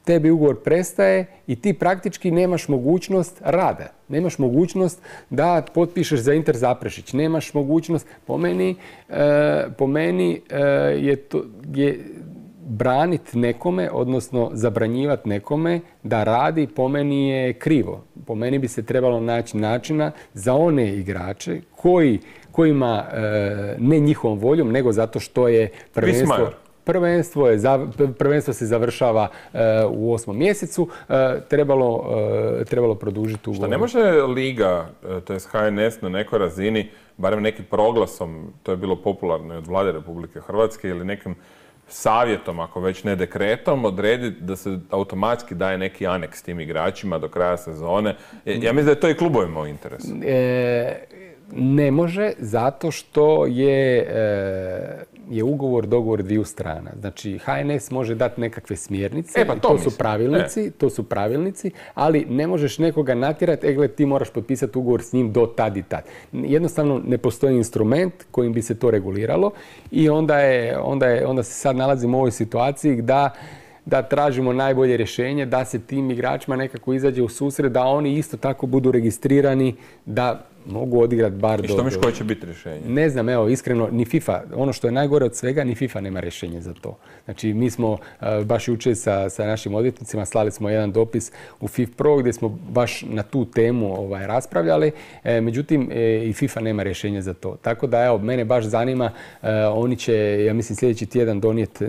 tebi ugovor prestaje i ti praktički nemaš mogućnost rada. Nemaš mogućnost da potpišeš za Inter Zaprešić. Nemaš mogućnost, po meni, e, po meni e, je, to, je braniti nekome, odnosno zabranjivati nekome da radi, po meni je krivo. Po meni bi se trebalo naći načina za one igrače koji, kojima e, ne njihovom voljom, nego zato što je prvenstvo... Prvenstvo, je, prvenstvo se završava uh, u osmom mjesecu, uh, trebalo, uh, trebalo produžiti ugovor.
Šta ne može Liga, to je H N S na nekoj razini, barem nekim proglasom, to je bilo popularno od vlade Republike Hrvatske ili nekim savjetom, ako već ne dekretom, odrediti da se automatski daje neki aneks tim igračima do kraja sezone. Ja mislim da je to i klubovima u interesu. E,
Ne može, zato što je, e, je ugovor, dogovor dviju strana. Znači, H N S može dati nekakve smjernice,
e, pa to,
to
mislim.
su pravilnici, e. to su pravilnici, ali ne možeš nekoga natjerati, e gled, ti moraš potpisati ugovor s njim do tad i tad. Jednostavno ne postoji instrument kojim bi se to reguliralo i onda, je, onda, je, onda se sad nalazimo u ovoj situaciji da da tražimo najbolje rješenje, da se tim igračima nekako izađe u susret, da oni isto tako budu registrirani, da mogu odigrati bar do...
I što misliš koje će biti rješenje?
Ne znam, evo, iskreno, ni FIFA, ono što je najgore od svega, ni FIFA nema rješenje za to. Znači, mi smo uh, baš jučer sa, sa našim odvjetnicima slali smo jedan dopis u FIFA Pro gdje smo baš na tu temu ovaj, raspravljali, e, međutim, e, i FIFA nema rješenje za to. Tako da, evo, mene baš zanima, uh, oni će, ja mislim, sljedeći tjedan donijeti,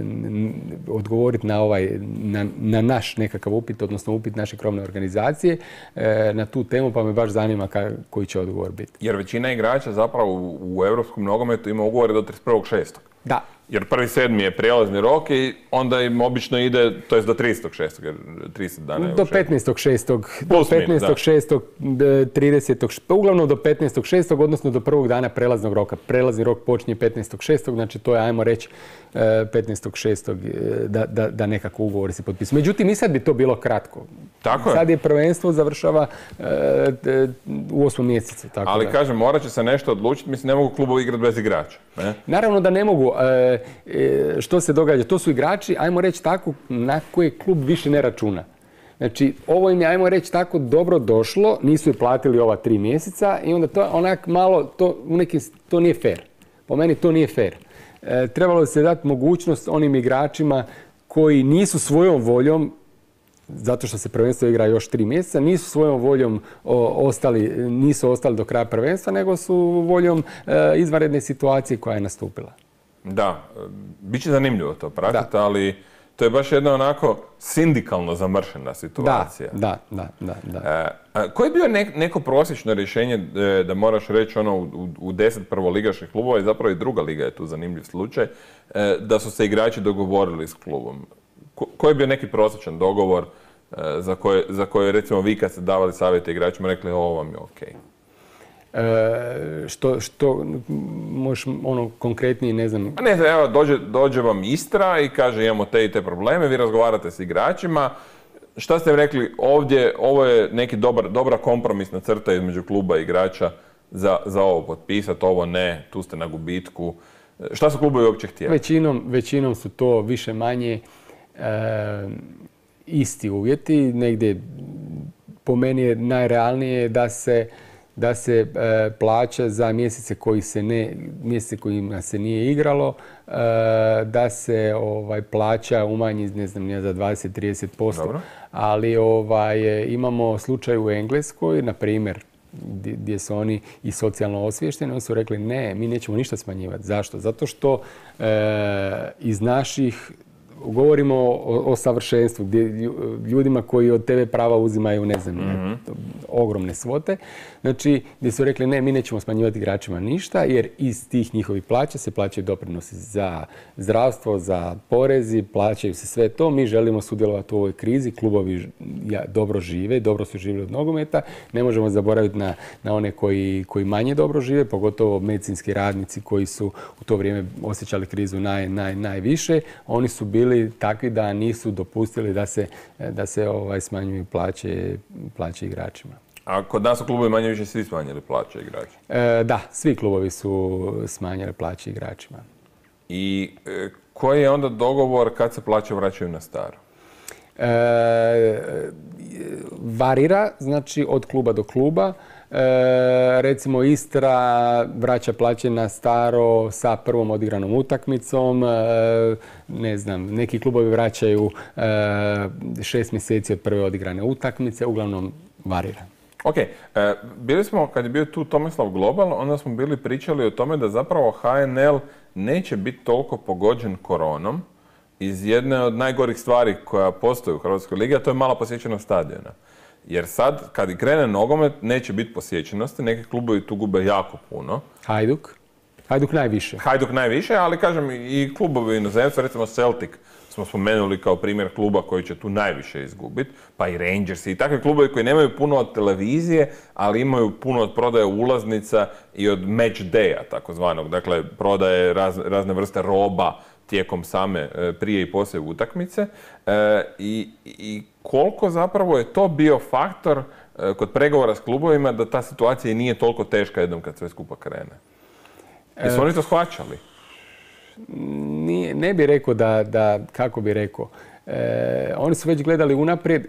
odgovoriti na ovaj, na, na naš nekakav upit, odnosno upit naše krovne organizacije e, na tu temu, pa me baš zanima ka, koji će odgovor biti.
Jer većina igrača zapravo u, u europskom nogometu ima ugovore do trideset prvog šestog
Da.
Jer prvi sedmi je prijelazni rok i onda im obično ide, to je do tridesetog šestog jer trideset dana je
do petnaestog šestog
Plus
do petnaestog šestog tridesetog uglavnom do petnaestog šestog odnosno do prvog dana prelaznog roka. Prelazni rok počinje petnaestog šestog znači to je, ajmo reći, petnaestog šestog da, da, da nekako ugovori se potpisuju. Međutim, i sad bi to bilo kratko.
Tako je.
Sad je prvenstvo završava e, u osmom mjesecu. Tako
Ali
da.
kažem, morat će se nešto odlučiti, mislim, ne mogu klubovi igrati bez igrača. Ne?
Naravno da ne mogu. E, e, što se događa? To su igrači, ajmo reći tako, na koje klub više ne računa. Znači, ovo im je, ajmo reći tako, dobro došlo, nisu je platili ova tri mjeseca i onda to onak malo, to, u nekim, to nije fair. Po meni to nije fair. E, trebalo bi se dati mogućnost onim igračima koji nisu svojom voljom, zato što se prvenstvo igra još tri mjeseca, nisu svojom voljom o, ostali, nisu ostali do kraja prvenstva, nego su voljom e, izvanredne situacije koja je nastupila.
Da, bit će zanimljivo to pratiti, ali to je baš jedna onako sindikalno zamršena situacija.
Da, da, da. da, da.
E, koje je bio ne, neko prosječno rješenje da, da moraš reći ono u, u deset prvoligaških klubova i zapravo i druga liga je tu zanimljiv slučaj, e, da su se igrači dogovorili s klubom? Ko, koji je bio neki prosječan dogovor e, za, koje, za koje recimo vi kad ste davali savjete igračima rekli ovo vam je okej? Okay.
E, što, što možeš ono konkretnije, ne znam...
A ne znam, evo, dođe, dođe vam Istra i kaže imamo te i te probleme, vi razgovarate s igračima. Šta ste im rekli ovdje, ovo je neki dobar, dobra kompromisna crta između kluba i igrača za, za ovo potpisati, ovo ne, tu ste na gubitku. Šta su klubovi uopće htjeli?
Većinom, većinom su to više manje e, isti uvjeti. Negdje po meni je najrealnije da se da se e, plaća za mjesece koji se ne, mjesece kojima se nije igralo, e, da se ovaj, plaća umanji, ne znam, nije za dvadeset do trideset posto.
Dobro.
Ali ovaj, imamo slučaj u Engleskoj, na primjer, gdje su oni i socijalno osviješteni, oni su rekli ne, mi nećemo ništa smanjivati. Zašto? Zato što e, iz naših govorimo o, o savršenstvu, gdje ljudima koji od te ve prava uzimaju, ne znam, mm-hmm. ogromne svote. Znači, gdje su rekli ne, mi nećemo smanjivati igračima ništa, jer iz tih njihovih plaća se plaćaju doprinosi za zdravstvo, za porezi, plaćaju se sve to. Mi želimo sudjelovati u ovoj krizi, klubovi dobro žive, dobro su živjeli od nogometa. Ne možemo zaboraviti na, na one koji, koji manje dobro žive, pogotovo medicinski radnici koji su u to vrijeme osjećali krizu naj, naj, najviše. Oni su bili takvi da nisu dopustili da se, da se ovaj, smanjuju plaće, plaće igračima.
A kod nas u klubovi manje više svi smanjili plaće igračima?
E, da, svi klubovi su smanjili plaće igračima.
I e, koji je onda dogovor kad se plaće vraćaju na staro?
E, varira, znači od kluba do kluba. E, recimo Istra vraća plaće na staro sa prvom odigranom utakmicom, e, ne znam, neki klubovi vraćaju e, šest mjeseci od prve odigrane utakmice, uglavnom varira.
Ok, e, bili smo, kad je bio tu Tomislav Global, onda smo bili pričali o tome da zapravo ha en el neće biti toliko pogođen koronom iz jedne od najgorih stvari koja postoji u Hrvatskoj ligi, a to je mala posjećenost stadiona. Jer sad, kad i krene nogomet, neće biti posjećenosti, neki klubovi tu gube jako puno.
Hajduk? Hajduk najviše.
Hajduk najviše, ali kažem i klubovi inozemstva, recimo Celtic smo spomenuli kao primjer kluba koji će tu najviše izgubiti, pa i Rangers i takvi klubovi koji nemaju puno od televizije, ali imaju puno od prodaje ulaznica i od match daya, takozvanog. Dakle, prodaje raz, razne vrste roba tijekom same prije i poslije utakmice. E, i, i koliko zapravo je to bio faktor e, kod pregovora s klubovima da ta situacija nije toliko teška jednom kad sve skupa krene? Jesu oni to shvaćali?
Nije, ne bi rekao da, da kako bi rekao, e, oni su već gledali unaprijed.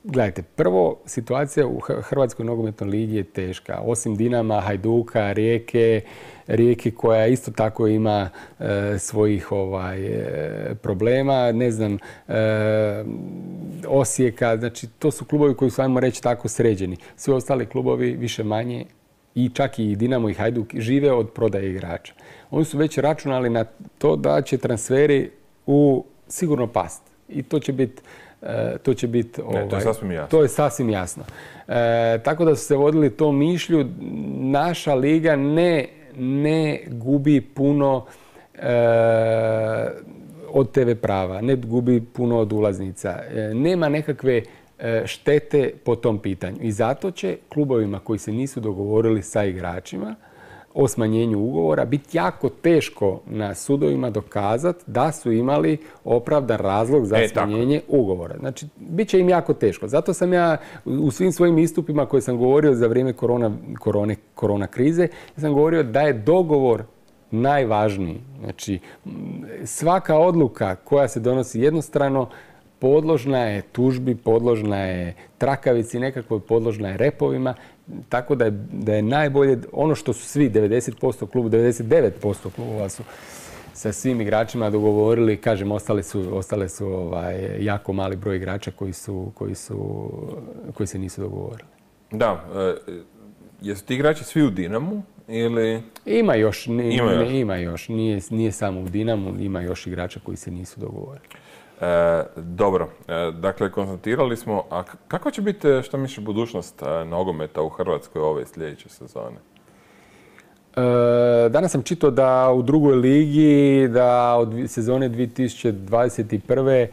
Gledajte, prvo, situacija u Hrvatskoj nogometnoj ligi je teška. Osim Dinama, Hajduka, Rijeke, Rijeke koja isto tako ima e, svojih ovaj, e, problema, ne znam, e, Osijeka, znači to su klubovi koji su, ajmo reći, tako sređeni. Svi ostali klubovi više manje, i čak i Dinamo i Hajduk, žive od prodaje igrača. Oni su već računali na to da će transferi u sigurno past. I to će biti E, to će biti...
Ovaj, to je sasvim jasno.
To je sasvim jasno. E, tako da su se vodili tom mišlju. Naša liga ne, ne gubi puno e, od te ve prava, ne gubi puno od ulaznica. E, nema nekakve e, štete po tom pitanju. I zato će klubovima koji se nisu dogovorili sa igračima o smanjenju ugovora biti jako teško na sudovima dokazati da su imali opravdan razlog za e, smanjenje tako. ugovora. Znači, bit će im jako teško. Zato sam ja u svim svojim istupima koje sam govorio za vrijeme korona, korone, korona krize, sam govorio da je dogovor najvažniji. Znači, svaka odluka koja se donosi jednostrano podložna je tužbi, podložna je trakavici, nekako podložna je repovima. Tako da je, da je najbolje, ono što su svi, devedeset posto klubu, devedeset devet posto klubova su sa svim igračima dogovorili, kažem, ostale su, ostale su ovaj, jako mali broj igrača koji, su, koji, su, koji se nisu dogovorili.
Da, e, jesu ti igrači svi u Dinamu ili...
Ima još, ne, ima još. Ne, ima još. Nije, nije samo u Dinamu, ima još igrača koji se nisu dogovorili.
E, dobro, e, dakle, konstatirali smo, a kako će biti, što misliš, budućnost e, nogometa u Hrvatskoj ove sljedeće sezone?
E, danas sam čitao da u drugoj ligi, da od sezone dvije tisuće dvadeset prve. E,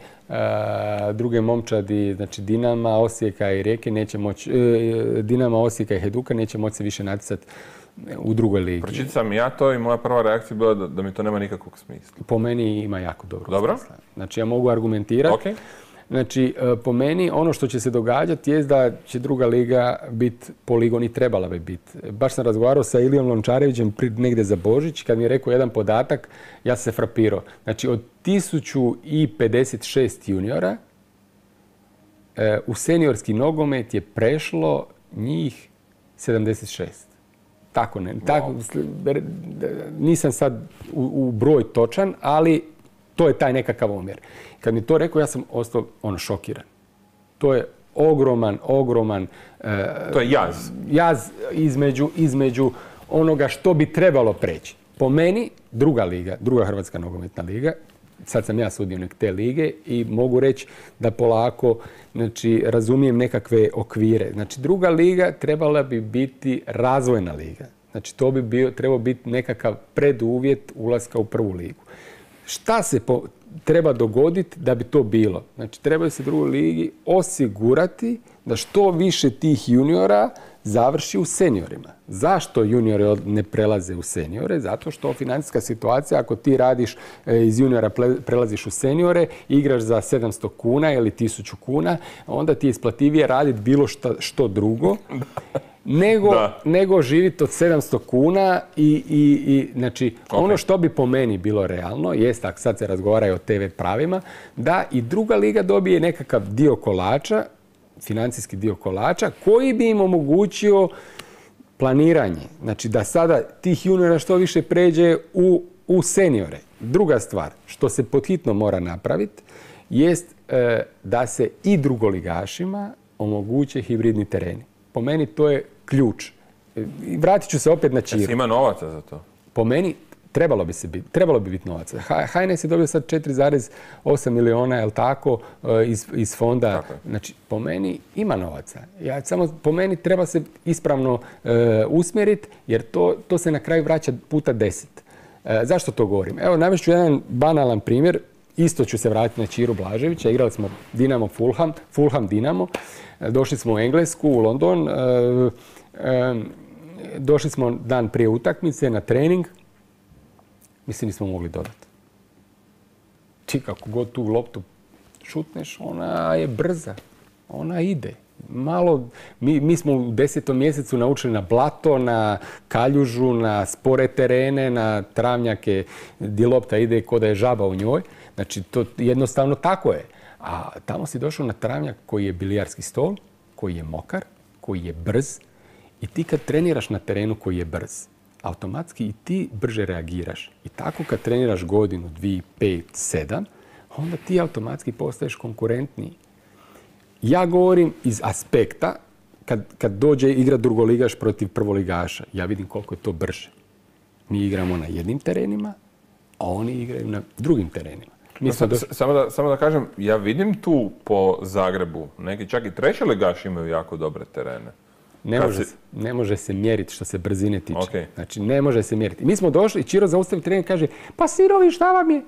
druge momčadi, znači Dinama, Osijeka i Rijeke neće moći, e, Dinama, Osijeka i Hajduka neće moći se više natjecati u drugoj ligi.
Pročitao sam ja to i moja prva reakcija bila da, da mi to nema nikakvog smisla.
Po meni ima jako dobro,
dobro
smisla. Znači ja mogu argumentirati.
Okay.
Znači po meni ono što će se događati je da će druga liga biti poligon i trebala bi biti. Baš sam razgovarao sa Ilijom Lončarevićem negdje za Božić, kad mi je rekao jedan podatak, ja sam se frapirao. Znači od tisuću pedeset šest juniora u seniorski nogomet je prešlo njih sedamdeset šest. Tako ne. Wow. Tako, nisam sad u, u broj točan, ali to je taj nekakav omjer. Kad mi to rekao, ja sam ostao ono šokiran. To je ogroman, ogroman... E,
to je jaz.
Jaz između, između onoga što bi trebalo preći. Po meni, druga liga, druga Hrvatska nogometna liga, sad sam ja sudionik te lige i mogu reći da polako, znači, razumijem nekakve okvire. Znači, druga liga trebala bi biti razvojna liga. Znači, to bi bio, trebao biti nekakav preduvjet ulaska u prvu ligu. Šta se po, treba dogoditi da bi to bilo? Znači, treba se drugoj ligi osigurati da što više tih juniora završi u seniorima. Zašto juniori ne prelaze u seniore? Zato što financijska situacija, ako ti radiš iz juniora prelaziš u seniore, igraš za sedamsto kuna ili tisuću kuna, onda ti je isplativije raditi bilo šta, što drugo, nego, nego živjeti od sedamsto kuna i, i, i znači, okay. Ono što bi po meni bilo realno, jest, ako sad se razgovara o te ve pravima, da i druga liga dobije nekakav dio kolača, financijski dio kolača, koji bi im omogućio planiranje. Znači da sada tih juniora što više pređe u, u seniore. Druga stvar, što se podhitno mora napraviti, jest e, da se i drugoligašima omoguće hibridni tereni. Po meni to je ključ. Vratit ću se opet na Čiro.
Jesi ima novaca za to?
Po meni trebalo bi se biti, trebalo bi biti novaca. H N S je dobio sad četiri zarez osam miliona, jel tako, iz, iz fonda.
Tako.
Znači, po meni ima novaca. Ja, samo po meni treba se ispravno e, usmjeriti, jer to, to se na kraju vraća puta deset. E, zašto to govorim? Evo, navest ću jedan banalan primjer. Isto ću se vratiti na Čiru Blaževića. Igrali smo Dinamo Fulham, Fulham Dinamo. E, došli smo u Englesku, u London. E, e, došli smo dan prije utakmice na trening. Mislim, nismo mogli dodati. Ti kako god tu loptu šutneš, ona je brza. Ona ide. Malo, mi, mi smo u desetom mjesecu naučili na blato, na kaljužu, na spore terene, na travnjake gdje lopta ide ko da je žaba u njoj. Znači, to jednostavno tako je. A tamo si došao na travnjak koji je bilijarski stol, koji je mokar, koji je brz. I ti kad treniraš na terenu koji je brz, automatski i ti brže reagiraš. I tako kad treniraš godinu, dvije, pet, sedam, onda ti automatski postaješ konkurentniji. Ja govorim iz aspekta kad, kad dođe igra drugoligaš protiv prvoligaša. Ja vidim koliko je to brže. Mi igramo na jednim terenima, a oni igraju na drugim terenima.
No, sam, do... samo, da, samo da kažem, ja vidim tu po Zagrebu, neki čak i trećoligaši imaju jako dobre terene.
Ne može, si... ne može se mjeriti što se brzine tiče.
Okay.
Znači, ne može se mjeriti. Mi smo došli i Čiro zaustavi trening i kaže, pa sirovi, šta vam je?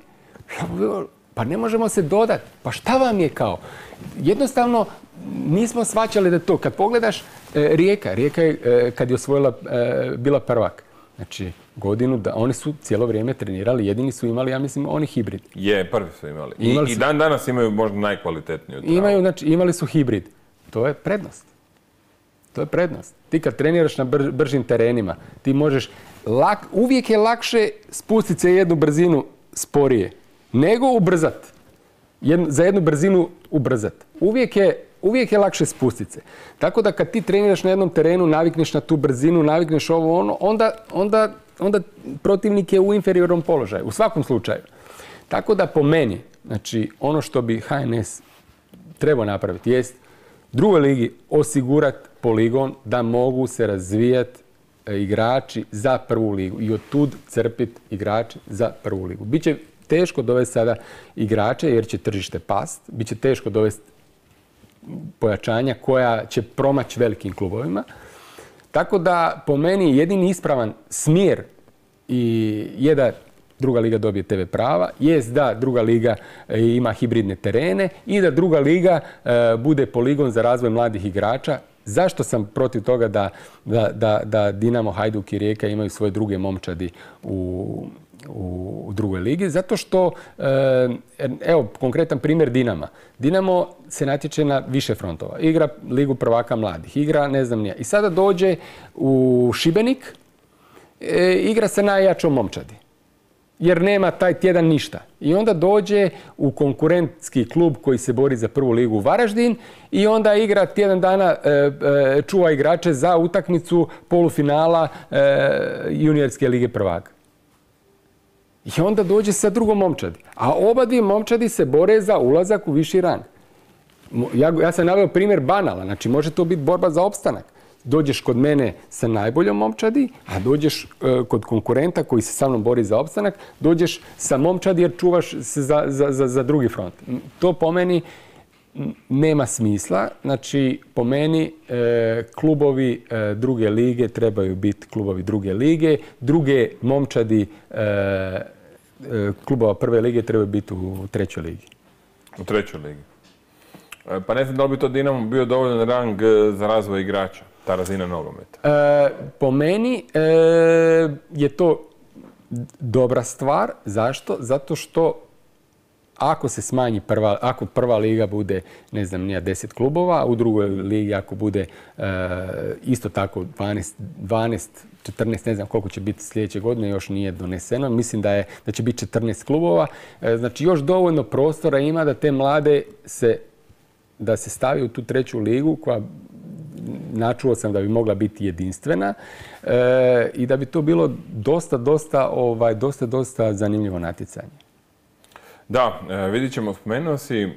Pa ne možemo se dodati. Pa šta vam je kao? Jednostavno, nismo shvaćali da to. Kad pogledaš, e, Rijeka, Rijeka je, e, kad je osvojila, e, bila prvak. Znači, godinu, da oni su cijelo vrijeme trenirali, jedini su imali, ja mislim, oni hibrid.
Je, prvi su imali. I, imali su... I dan danas imaju možda najkvalitetniju travu.
Imaju, znači, imali su hibrid. To je prednost. To je prednost. Ti kad treniraš na br- bržim terenima, ti možeš, lak, uvijek je lakše spustiti se jednu brzinu sporije, nego ubrzat. Jednu, za jednu brzinu ubrzat. Uvijek je, uvijek je lakše spustiti se. Tako da kad ti treniraš na jednom terenu, navikneš na tu brzinu, navikneš ovo ono, onda, onda, onda protivnik je u inferiornom položaju. U svakom slučaju. Tako da po meni, znači ono što bi H N S trebao napraviti jest drugoj ligi osigurati poligon da mogu se razvijati igrači za prvu ligu i od tud crpiti igrači za prvu ligu. Biće teško dovesti sada igrače jer će tržište past, biće teško dovesti pojačanja koja će promaći velikim klubovima. Tako da po meni jedini ispravan smjer i je da druga liga dobije te ve prava, jest da druga liga ima hibridne terene i da druga liga e, bude poligon za razvoj mladih igrača. Zašto sam protiv toga da, da, da, da Dinamo, Hajduk i Rijeka imaju svoje druge momčadi u, u, u drugoj ligi? Zato što, e, evo, konkretan primjer Dinama. Dinamo se natječe na više frontova. Igra ligu prvaka mladih, igra ne znam nije. I sada dođe u Šibenik, e, igra se najjačom momčadi. Jer nema taj tjedan ništa. I onda dođe u konkurentski klub koji se bori za prvu ligu u Varaždin i onda igra tjedan dana, e, e, čuva igrače za utakmicu polufinala e, juniorske lige prvaka. I onda dođe sa drugom momčadi. A oba dvije momčadi se bore za ulazak u viši rang. Ja, ja sam naveo primjer banala, znači može to biti borba za opstanak. Dođeš kod mene sa najboljom momčadi, a dođeš e, kod konkurenta koji se sa mnom bori za opstanak, dođeš sa momčadi jer čuvaš se za, za, za, za drugi front. To po meni nema smisla. Znači, po meni e, klubovi e, druge lige trebaju biti klubovi druge lige. Druge momčadi e, e, klubova prve lige trebaju biti u trećoj ligi.
U trećoj ligi. E, pa ne znam da li bi to Dinamo bio dovoljan rang za razvoj igrača, ta razina nogometa?
E, po meni e, je to dobra stvar. Zašto? Zato što ako se smanji prva, ako prva liga bude, ne znam, nije deset klubova, a u drugoj ligi ako bude e, isto tako dvanaest, dvanaest, četrnaest, ne znam koliko će biti sljedeće godine, još nije doneseno. Mislim da, je, da će biti četrnaest klubova. E, znači još dovoljno prostora ima da te mlade se, da se stavi u tu treću ligu koja načuo sam da bi mogla biti jedinstvena e, i da bi to bilo dosta, dosta, ovaj, dosta, dosta zanimljivo natjecanje.
Da, vidit ćemo, spomenuo si e,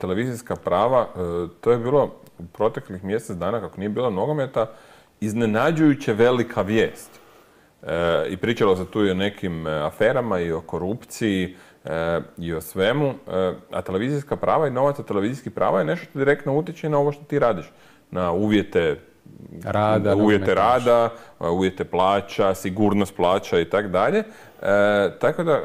televizijska prava. E, to je bilo u proteklih mjesec dana, kako nije bilo nogometa, iznenađujuće velika vijest. e, i pričalo se tu i o nekim aferama i o korupciji e, i o svemu, e, a televizijska prava i novac od televizijskih prava je nešto što direktno utječe na ovo što ti radiš, na uvjete
rada,
uvjete rada, uvjete plaća, sigurnost plaća i tako dalje. Tako da,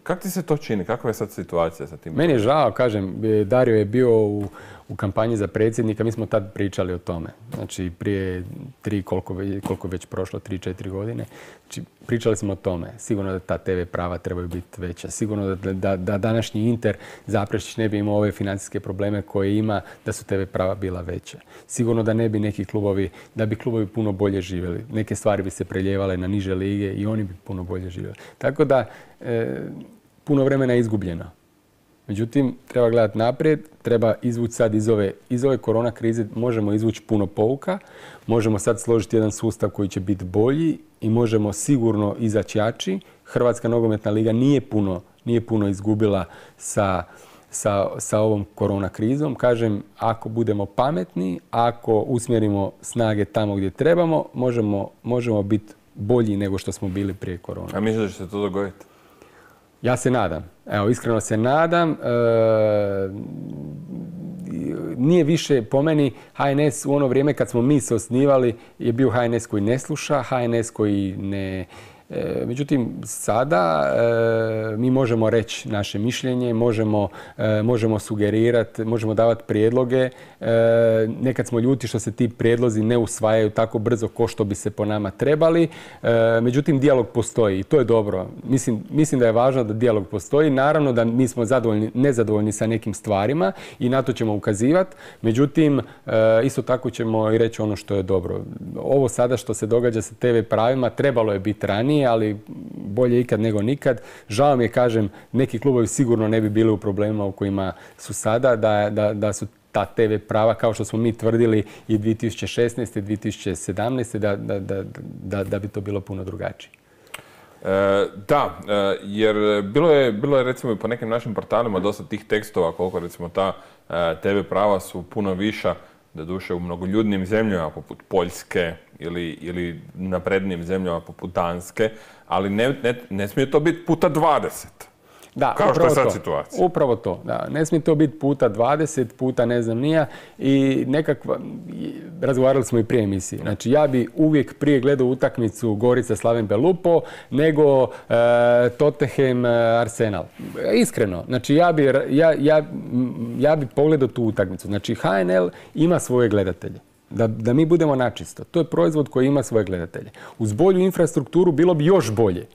kako ti se to čini? Kakva je sad situacija sa tim?
Meni je žao, kažem, Dario je bio u, u kampanji za predsjednika, mi smo tad pričali o tome. Znači, prije tri, koliko, koliko već prošlo, tri, četiri godine. Znači, pričali smo o tome. Sigurno da ta te ve prava trebaju biti veća. Sigurno da, da, da današnji Inter Zaprešić ne bi imao ove financijske probleme koje ima da su te ve prava bila veće. Sigurno da ne bi neki klubovi, da bi klubovi puno bolje živjeli. Neke stvari bi se preljevale na niže lige i oni bi puno bolje živjeli. Tako da, e, puno vremena je izgubljeno. Međutim, treba gledati naprijed, treba izvući sad iz ove, iz ove korona krize, možemo izvući puno pouka, možemo sad složiti jedan sustav koji će biti bolji i možemo sigurno izaći jači. Hrvatska nogometna liga nije puno, nije puno izgubila sa, sa, sa ovom korona krizom. Kažem, ako budemo pametni, ako usmjerimo snage tamo gdje trebamo, možemo, možemo biti bolji nego što smo bili prije korona.
A misliš da će se to dogoditi?
Ja se nadam. Evo, iskreno se nadam. E, nije više, po meni, ha en es u ono vrijeme kad smo mi se osnivali je bio ha en es koji ne sluša, ha en es koji ne... E, međutim, sada e, mi možemo reći naše mišljenje, možemo, e, možemo sugerirati, možemo davati prijedloge. E, nekad smo ljuti što se ti prijedlozi ne usvajaju tako brzo ko što bi se po nama trebali. E, međutim, dijalog postoji i to je dobro. Mislim, mislim da je važno da dijalog postoji. Naravno da mi smo zadovoljni, nezadovoljni sa nekim stvarima i na to ćemo ukazivati. Međutim, e, isto tako ćemo i reći ono što je dobro. Ovo sada što se događa sa te ve pravima trebalo je biti ranije, ali bolje ikad nego nikad. Žao mi je, kažem, neki klubovi sigurno ne bi bili u problemima u kojima su sada, da, da, da su ta te ve prava, kao što smo mi tvrdili i dvije tisuće šesnaeste. i dvije tisuće sedamnaeste. Da, da, da, da, da bi to bilo puno drugačije.
E, da, e, jer bilo je, bilo je recimo i po nekim našim portalima dosta tih tekstova koliko recimo ta e, te ve prava su puno viša, doduše u mnogoljudnim zemljama poput Poljske ili, ili naprednim zemljama poput Danske, ali ne, ne, ne smije to biti puta dvadeset.
Da,
kao što je sad
to.
situacija.
Upravo to. Da. Ne smije to biti puta dvadeset, puta ne znam nija. I nekakva, razgovarali smo i prije emisije. Znači, ja bi uvijek prije gledao utakmicu Gorica Slaven Belupo nego e, Tottenham Arsenal. Iskreno. Znači, ja bi, ja, ja, ja bi pogledao tu utakmicu. Znači, ha en el ima svoje gledatelje. Da, da mi budemo načisto. To je proizvod koji ima svoje gledatelje. Uz bolju infrastrukturu bilo bi još bolje.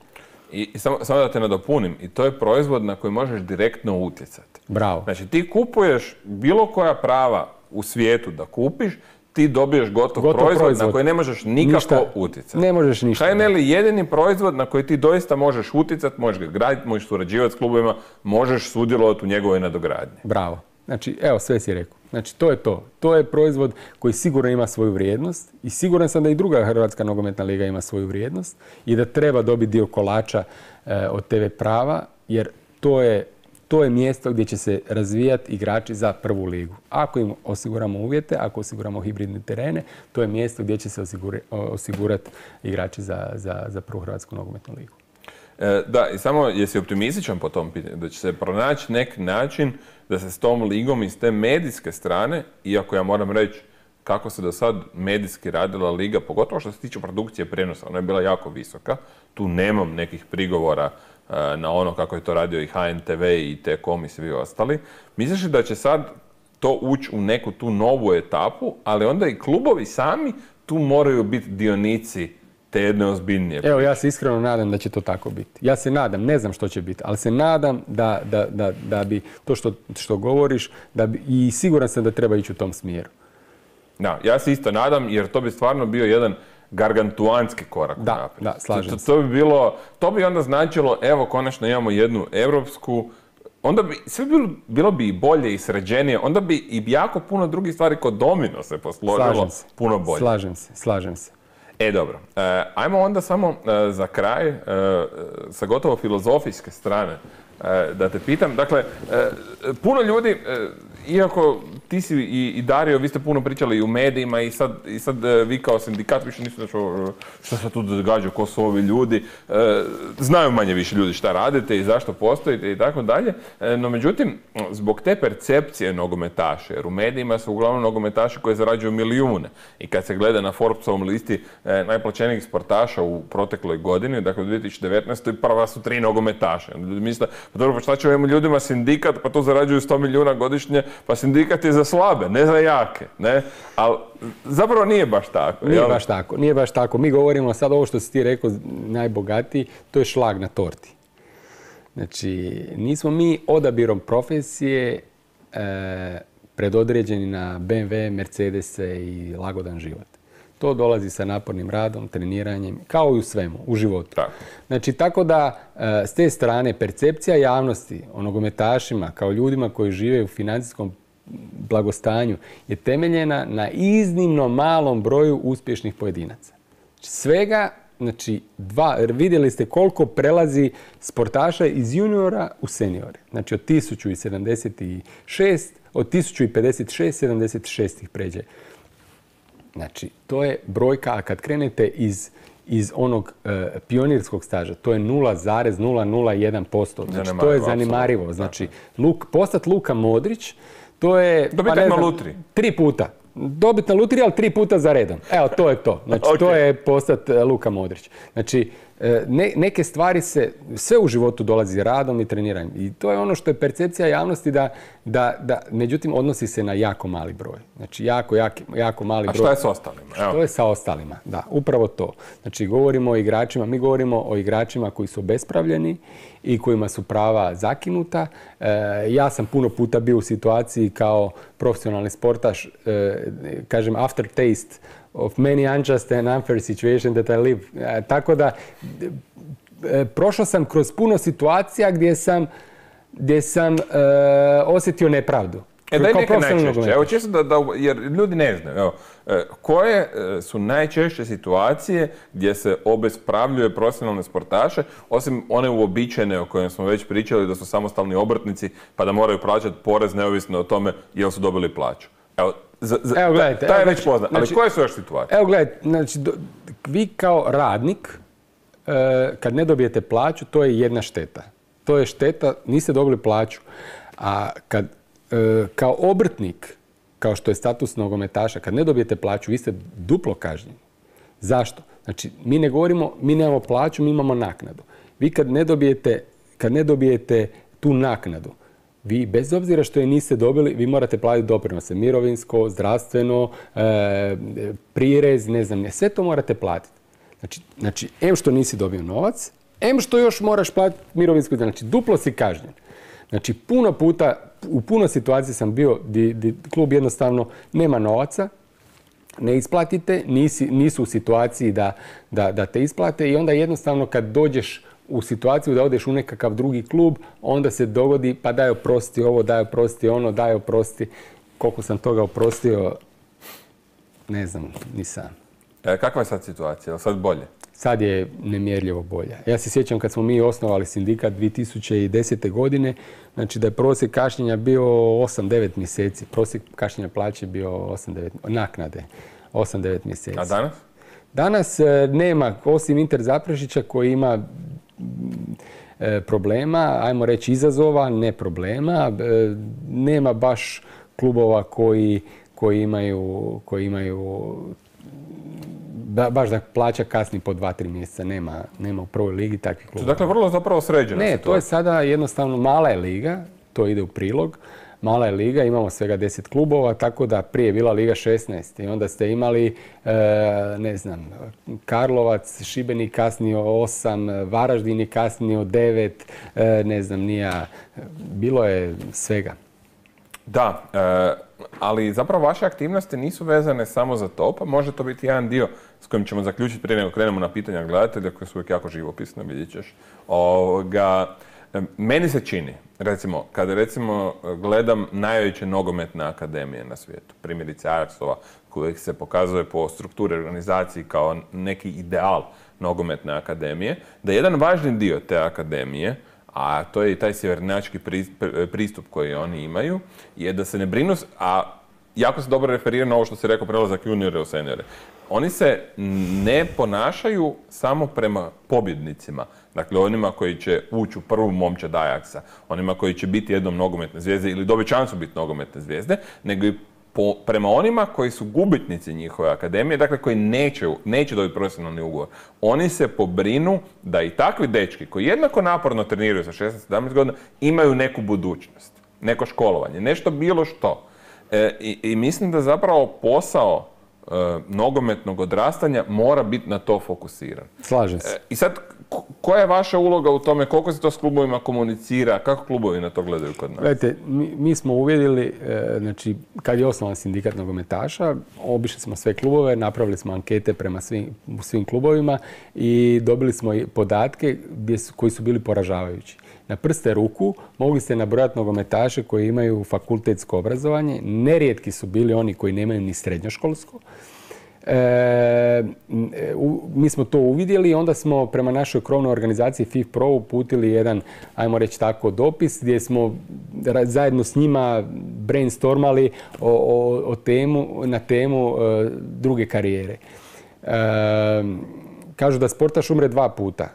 I, i samo, samo da te nadopunim, i to je proizvod na koji možeš direktno utjecati.
Bravo.
Znači, ti kupuješ bilo koja prava u svijetu da kupiš, ti dobiješ gotov, gotov proizvod, proizvod na koji ne možeš nikako ništa, utjecati.
Ne možeš ništa.
ha en el je jedini proizvod na koji ti doista možeš utjecati, možeš ga graditi, možeš surađivati s klubovima, možeš sudjelovati u njegovoj nadogradnji.
Bravo. Znači, evo, sve si rekao. Znači, to je to. To je proizvod koji sigurno ima svoju vrijednost i siguran sam da i druga Hrvatska nogometna liga ima svoju vrijednost i da treba dobiti dio kolača e, od te ve prava, jer to je, to je mjesto gdje će se razvijati igrači za prvu ligu. Ako im osiguramo uvjete, ako osiguramo hibridne terene, to je mjesto gdje će se osigura, osigurati igrači za, za, za prvu Hrvatsku nogometnu ligu.
E, da, i samo jesi optimističan po tom pitanju, da će se pronaći neki način da se s tom ligom i s te medijske strane, iako ja moram reći kako se do sad medijski radila liga, pogotovo što se tiče produkcije prijenosa, ona je bila jako visoka, tu nemam nekih prigovora uh, na ono kako je to radio i ha en te ve i te kom i svi ostali. Misliš da će sad to ući u neku tu novu etapu, ali onda i klubovi sami tu moraju biti dionici te jedne ozbiljnije priče?
Evo, ja se iskreno nadam da će to tako biti. Ja se nadam, ne znam što će biti, ali se nadam da, da, da, da bi to što, što govoriš, da bi, i siguran sam da treba ići u tom smjeru.
Da, ja se isto nadam, jer to bi stvarno bio jedan gargantuanski korak.
Da, da, slažem
to,
se.
To bi bilo, to bi onda značilo, evo, konačno imamo jednu europsku, onda bi, sve bilo, bilo bi i bolje i sređenije, onda bi i jako puno drugih stvari kod domino se posložilo puno bolje.
Slažem se, slažem se.
E, dobro. E, ajmo onda samo e, za kraj, e, sa gotovo filozofijske strane, e, da te pitam. Dakle, e, puno ljudi, e, iako ti si i, i Dario, vi ste puno pričali i u medijima i sad, i sad vi kao sindikat više niste što, što se tu događa, ko su ovi ljudi. E, znaju manje više ljudi šta radite i zašto postojite i tako dalje. E, no međutim, zbog te percepcije nogometaša, jer u medijima su uglavnom nogometaši koji zarađuju milijune. I kad se gleda na Forbesovom listi e, najplaćenijih sportaša u protekloj godini, dakle u dvije tisuće devetnaestoj prva su tri nogometaša. Ljudi misle, pa dobro, pa šta će ovim ljudima sindikat, pa to zarađuju sto milijuna godišnje, pa sindikat je za slabe, ne za jake, ne? Ali zapravo nije baš tako.
Nije
jel?
baš tako, nije baš tako. Mi govorimo sad ovo što si ti rekao, najbogatiji, to je šlag na torti. Znači, nismo mi odabirom profesije e, predodređeni na be em ve, Mercedese i lagodan život. To dolazi sa napornim radom, treniranjem, kao i u svemu, u životu.
Tako.
Znači, tako da e, s te strane percepcija javnosti o nogometašima kao ljudima koji žive u financijskom blagostanju je temeljena na iznimno malom broju uspješnih pojedinaca. Svega, znači, dva, vidjeli ste koliko prelazi sportaša iz juniora u seniore. Znači, od tisuću sedamdeset šest, od tisuću pedeset šest, sedamdeset šest ih pređe. Znači, to je brojka, a kad krenete iz, iz onog e, pionirskog staža, to je nula zarez nula nula jedan posto. Znači, to je zanimarivo. Znači, Luk, postat Luka Modrić, to je...
Dobiti pa, na lutri.
Tri puta. Dobiti na lutri, ali tri puta za redom. Evo, to je to. Znači, okay. To je postat Luka Modrić. Znači, ne, neke stvari se, sve u životu dolazi radom i treniranjem. I to je ono što je percepcija javnosti da, da, da međutim, odnosi se na jako mali broj. Znači, jako, jako, jako mali broj.
A što je s ostalima? Evo.
Što je sa ostalima? Da, upravo to. Znači, govorimo o igračima, mi govorimo o igračima koji su obespravljeni i kojima su prava zakinuta. E, ja sam puno puta bio u situaciji kao profesionalni sportaš, e, kažem, aftertaste of many unjust and unfair situation that I live. E, tako da, e, prošao sam kroz puno situacija gdje sam, gdje sam e, osjetio nepravdu.
E, daj neke najčešće. Evo, čisto da, da, jer ljudi ne znaju. Evo, koje su najčešće situacije gdje se obespravljuje profesionalne sportaše, osim one uobičajene o kojima smo već pričali, da su samostalni obrtnici pa da moraju plaćati porez neovisno o tome jel su dobili plaću. Evo, za, za, evo gledajte. Ta je već poznat. Ali znači, koje su još situacije?
Evo gledajte, znači, do, vi kao radnik, e, kad ne dobijete plaću, to je jedna šteta. To je šteta, niste dobili plaću. A kad kao obrtnik, kao što je status nogometaša, kad ne dobijete plaću, vi ste duplo kažnjeni. Zašto? Znači, mi ne govorimo, mi nemamo plaću, mi imamo naknadu. Vi kad ne dobijete, kad ne dobijete tu naknadu, vi bez obzira što je niste dobili, vi morate platiti doprinose, mirovinsko, zdravstveno, e, prirez, ne znam, ne, sve to morate platiti. Znači, znači, em što nisi dobio novac, em što još moraš platiti mirovinsko, znači duplo si kažnjen. Znači, puno puta, u puno situacija sam bio di, di klub jednostavno nema novaca, ne isplatite, nisi, nisu u situaciji da, da, da te isplate i onda jednostavno kad dođeš u situaciju da odeš u nekakav drugi klub, onda se dogodi pa daj oprosti ovo, daj oprosti ono, daj oprosti. Koliko sam toga oprostio, ne znam, ni sam.
E, kakva je sad situacija? Je sad bolje?
Sad je nemjerljivo bolja. Ja se sjećam kad smo mi osnovali sindikat dvije tisuće desete. godine, znači da je prosjek kašnjenja bio osam devet mjeseci. Prosjek kašnjenja plaće bio osam devet, naknade osam devet mjeseci.
A danas?
Danas e, nema, osim Inter Zaprešića koji ima e, problema, ajmo reći izazova, ne problema. E, nema baš klubova koji, koji imaju, koji imaju Da, baš da plaća kasni po dva, tri mjeseca. Nema, nema u prvoj ligi takvih klubova.
Dakle, vrlo zapravo sređena
Ne,
situacija.
to je sada jednostavno mala je liga, to ide u prilog. Mala je liga, imamo svega deset klubova, tako da prije je bila liga šesnaest. I onda ste imali, e, ne znam, Karlovac, Šibenik kasnio osam, Varaždin je kasnio devet, e, ne znam, nija. Bilo je svega.
Da, e, ali zapravo vaše aktivnosti nisu vezane samo za to, pa može to biti jedan dio s kojim ćemo zaključiti prije nego krenemo na pitanja gledatelja koji su uvijek jako živopisne, vidjet ćeš. Ovoga, meni se čini, recimo, kada recimo gledam najveće nogometne akademije na svijetu, primjerice Ajaxova, koji se pokazuje po strukturi organizaciji kao neki ideal nogometne akademije, da jedan važni dio te akademije, a to je i taj sjevernjački pristup koji oni imaju, je da se ne brinu, a jako se dobro referira na ovo što si rekao, prelazak juniore u seniore. Oni se ne ponašaju samo prema pobjednicima, dakle onima koji će ući u prvu momčad Ajaxa, onima koji će biti jednom nogometne zvijezde ili dobiti šansu biti nogometne zvijezde, nego i po, prema onima koji su gubitnici njihove akademije, dakle koji neće, neće dobiti profesionalni ugovor. Oni se pobrinu da i takvi dečki koji jednako naporno treniraju sa šesnaest sedamnaest godina imaju neku budućnost, neko školovanje, nešto bilo što. E, i, i mislim da zapravo posao e, nogometnog odrastanja mora biti na to fokusiran.
Slažem se.
E, I sad, koja je vaša uloga u tome, koliko se to s klubovima komunicira, kako klubovi na to gledaju kod nas?
Gledajte, mi, mi smo uvjerili, e, znači, kad je osnovan sindikat nogometaša, obišli smo sve klubove, napravili smo ankete prema svim, svim klubovima i dobili smo i podatke gdje su, koji su bili poražavajući. Na prste ruku mogli ste nabrojati nogometaše koji imaju fakultetsko obrazovanje. Nerijetki su bili oni koji nemaju ni srednjoškolsko. E, u, mi smo to uvidjeli i onda smo prema našoj krovnoj organizaciji F I F Pro uputili jedan, ajmo reći tako, dopis gdje smo zajedno s njima brainstormali o, o, o temu, na temu e, druge karijere. E, kažu da sportaš umre dva puta.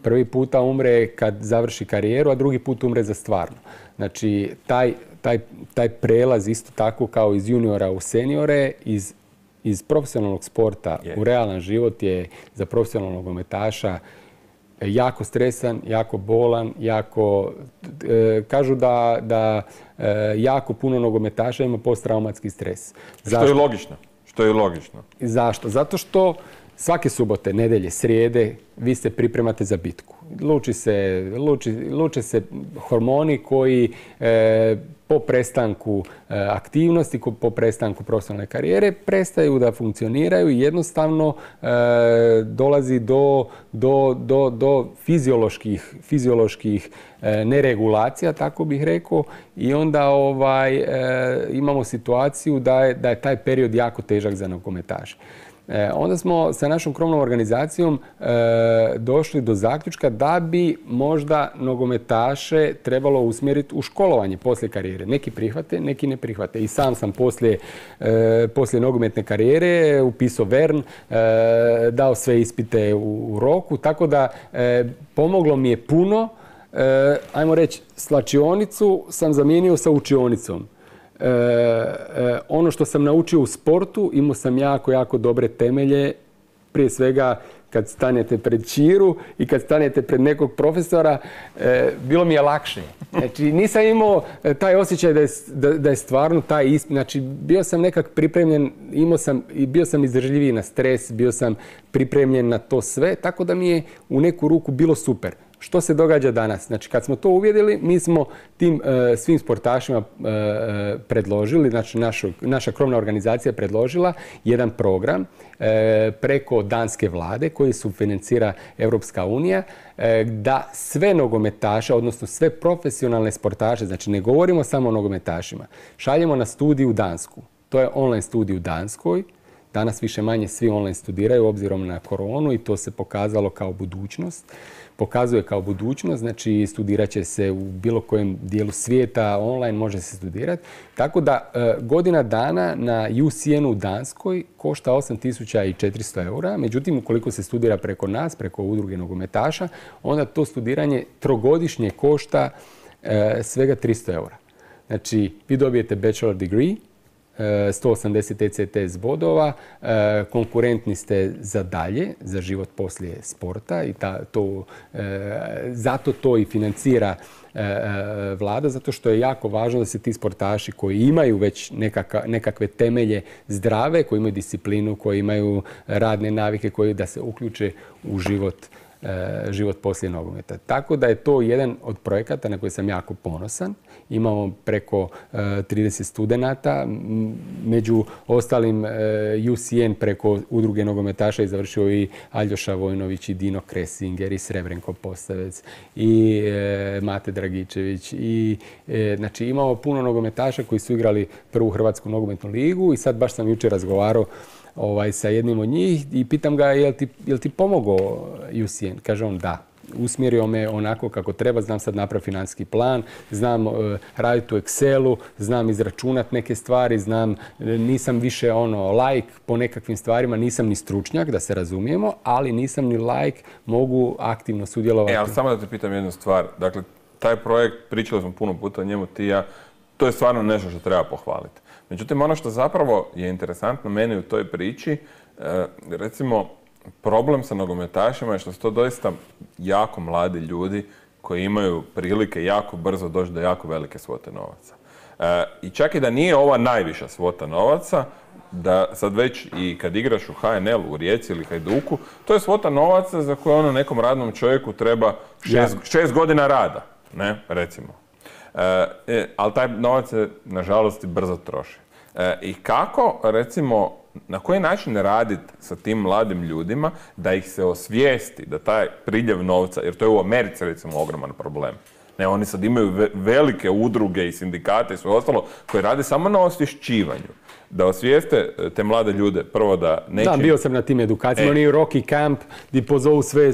Prvi puta umre kad završi karijeru, a drugi put umre za stvarno. Znači, taj, taj, taj prelaz isto tako kao iz juniora u seniore, iz, iz profesionalnog sporta yeah. u realan život je za profesionalnog nogometaša jako stresan, jako bolan, jako... E, kažu da, da e, jako puno nogometaša ima posttraumatski stres.
Zašto? Što je logično. Što je logično.
Zašto? Zato što svake subote, nedelje, srijede, vi se pripremate za bitku. Luči se, luči, luče se hormoni koji e, po prestanku e, aktivnosti, po prestanku profesionalne karijere prestaju da funkcioniraju i jednostavno e, dolazi do, do, do, do fizioloških, fizioloških e, neregulacija, tako bih rekao, i onda ovaj, e, imamo situaciju da je, da je taj period jako težak za nogometaše. E, onda smo sa našom krovnom organizacijom e, došli do zaključka da bi možda nogometaše trebalo usmjeriti u školovanje poslije karijere. Neki prihvate, neki ne prihvate. I sam sam poslije, e, poslije nogometne karijere upisao Vern, e, dao sve ispite u, u roku, tako da e, pomoglo mi je puno. E, ajmo reći, slačionicu sam zamijenio sa učionicom. E, e, ono što sam naučio u sportu, imao sam jako, jako dobre temelje. Prije svega, kad stanete pred Čiru i kad stanete pred nekog profesora, e, bilo mi je lakše. Znači, nisam imao taj osjećaj da je, da, da je stvarno taj ispit. Znači, bio sam nekak pripremljen, imao sam, bio sam izdržljiviji na stres, bio sam pripremljen na to sve, tako da mi je u neku ruku bilo super. Što se događa danas? Znači, kad smo to uvjerili, mi smo tim e, svim sportašima e, predložili, znači našu, naša krovna organizacija predložila jedan program e, preko danske vlade koji subfinancira Europska unija, e, da sve nogometaše, odnosno sve profesionalne sportaše, znači ne govorimo samo o nogometašima, šaljemo na studij u Dansku. To je online studij u Danskoj. Danas više manje svi online studiraju obzirom na koronu i to se pokazalo kao budućnost. Pokazuje kao budućnost, znači studirat će se u bilo kojem dijelu svijeta, online može se studirati. Tako da e, godina dana na U C N u Danskoj košta osam tisuća četiristo eura, međutim ukoliko se studira preko nas, preko udruge nogometaša, onda to studiranje trogodišnje košta e, svega tristo eura. Znači, vi dobijete bachelor degree, sto osamdeset E C T S bodova, konkurentni ste za dalje, za život poslije sporta i ta, to, zato to i financira vlada, zato što je jako važno da se ti sportaši koji imaju već nekaka, nekakve temelje zdrave, koji imaju disciplinu, koji imaju radne navike, koji da se uključe u život život poslije nogometa. Tako da je to jedan od projekata na koji sam jako ponosan. Imamo preko trideset studenata. Među ostalim U C N preko udruge nogometaša je završio i Aljoša Vojnović, i Dino Kresinger, i Srebrenko Postavec, i Mate Dragičević. I, znači, imamo puno nogometaša koji su igrali prvu Hrvatsku nogometnu ligu i sad baš sam jučer razgovarao Ovaj, sa jednim od njih i pitam ga je li ti, je li ti pomogao U C N? Kaže on da. usmjerio me onako kako treba, znam sad napraviti financijski plan, znam uh, raditi u Excelu, znam izračunati neke stvari, znam, nisam više ono laik po nekakvim stvarima, nisam ni stručnjak, da se razumijemo, ali nisam ni laik, mogu aktivno sudjelovati.
E, ali samo da te pitam jednu stvar, dakle, taj projekt, pričali smo puno puta o njemu ti i ja, to je stvarno nešto što treba pohvaliti. Međutim, ono što zapravo je interesantno meni u toj priči, e, recimo, problem sa nogometašima je što su to doista jako mladi ljudi koji imaju prilike jako brzo doći do jako velike svote novaca. E, I čak i da nije ova najviša svota novaca, da sad već i kad igraš u H N L u Rijeci ili Hajduku, to je svota novaca za koju ono nekom radnom čovjeku treba šest, šest godina rada, ne, recimo. E, ali taj novac se, nažalost, brzo troši. E, I kako, recimo, na koji način raditi sa tim mladim ljudima da ih se osvijesti da taj priljev novca, jer to je u Americi, recimo, ogroman problem. Ne, oni sad imaju ve- velike udruge i sindikate i sve ostalo koji rade samo na osvješćivanju. Da osvijeste te mlade ljude, prvo da neće...
Da, bio sam na tim edukacijama,
E.
oni u Rocky Camp gdje pozovu sve e,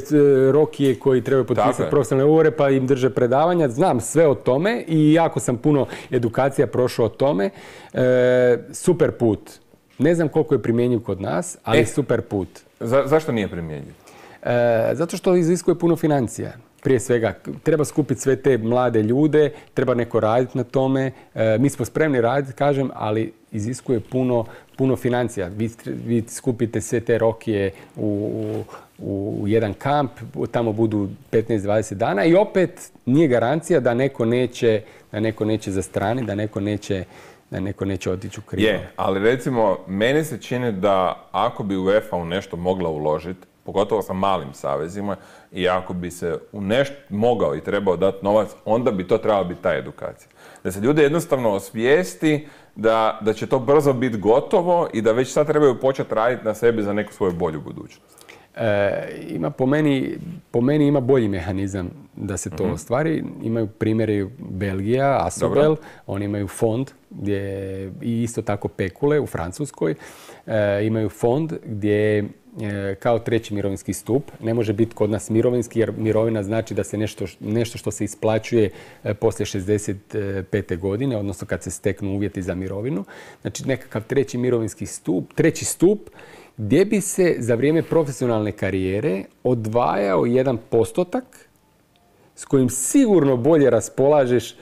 Rokije koji trebaju potpisati profesionalne ugovore pa im drže predavanja. Znam sve o tome i jako sam puno edukacija prošao o tome. E, super put. Ne znam koliko je primjenjiv kod nas, ali
E.
super put.
Za, zašto nije primjenjiv?
E, zato što iziskuje puno financija. Prije svega, treba skupiti sve te mlade ljude, treba neko raditi na tome. E, mi smo spremni raditi, kažem, ali iziskuje puno, puno financija. Vi, vi skupite sve te Rokije u, u, u jedan kamp, tamo budu petnaest dvadeset dana i opet nije garancija da neko neće, da neko neće zastraniti, da neko neće da neko neće otići u krivo.
Je, ali recimo, meni se čini da ako bi UEFA u nešto mogla uložiti, pogotovo sa malim savezima, i ako bi se u nešto mogao i trebao dati novac, onda bi to trebala biti ta edukacija. Da se ljude jednostavno osvijesti da, da će to brzo biti gotovo i da već sad trebaju početi raditi na sebi za neku svoju bolju budućnost.
E, ima po meni, po meni ima bolji mehanizam da se to mm-hmm. ostvari. Imaju primjeri Belgija, Asobel, oni imaju fond gdje, i isto tako Pekule u Francuskoj. E, imaju fond gdje kao treći mirovinski stup. Ne može biti kod nas mirovinski jer mirovina znači da se nešto, nešto što se isplaćuje poslije šezdeset pete godine, odnosno kad se steknu uvjeti za mirovinu. Znači nekakav treći mirovinski stup, treći stup gdje bi se za vrijeme profesionalne karijere odvajao jedan postotak s kojim sigurno bolje raspolažeš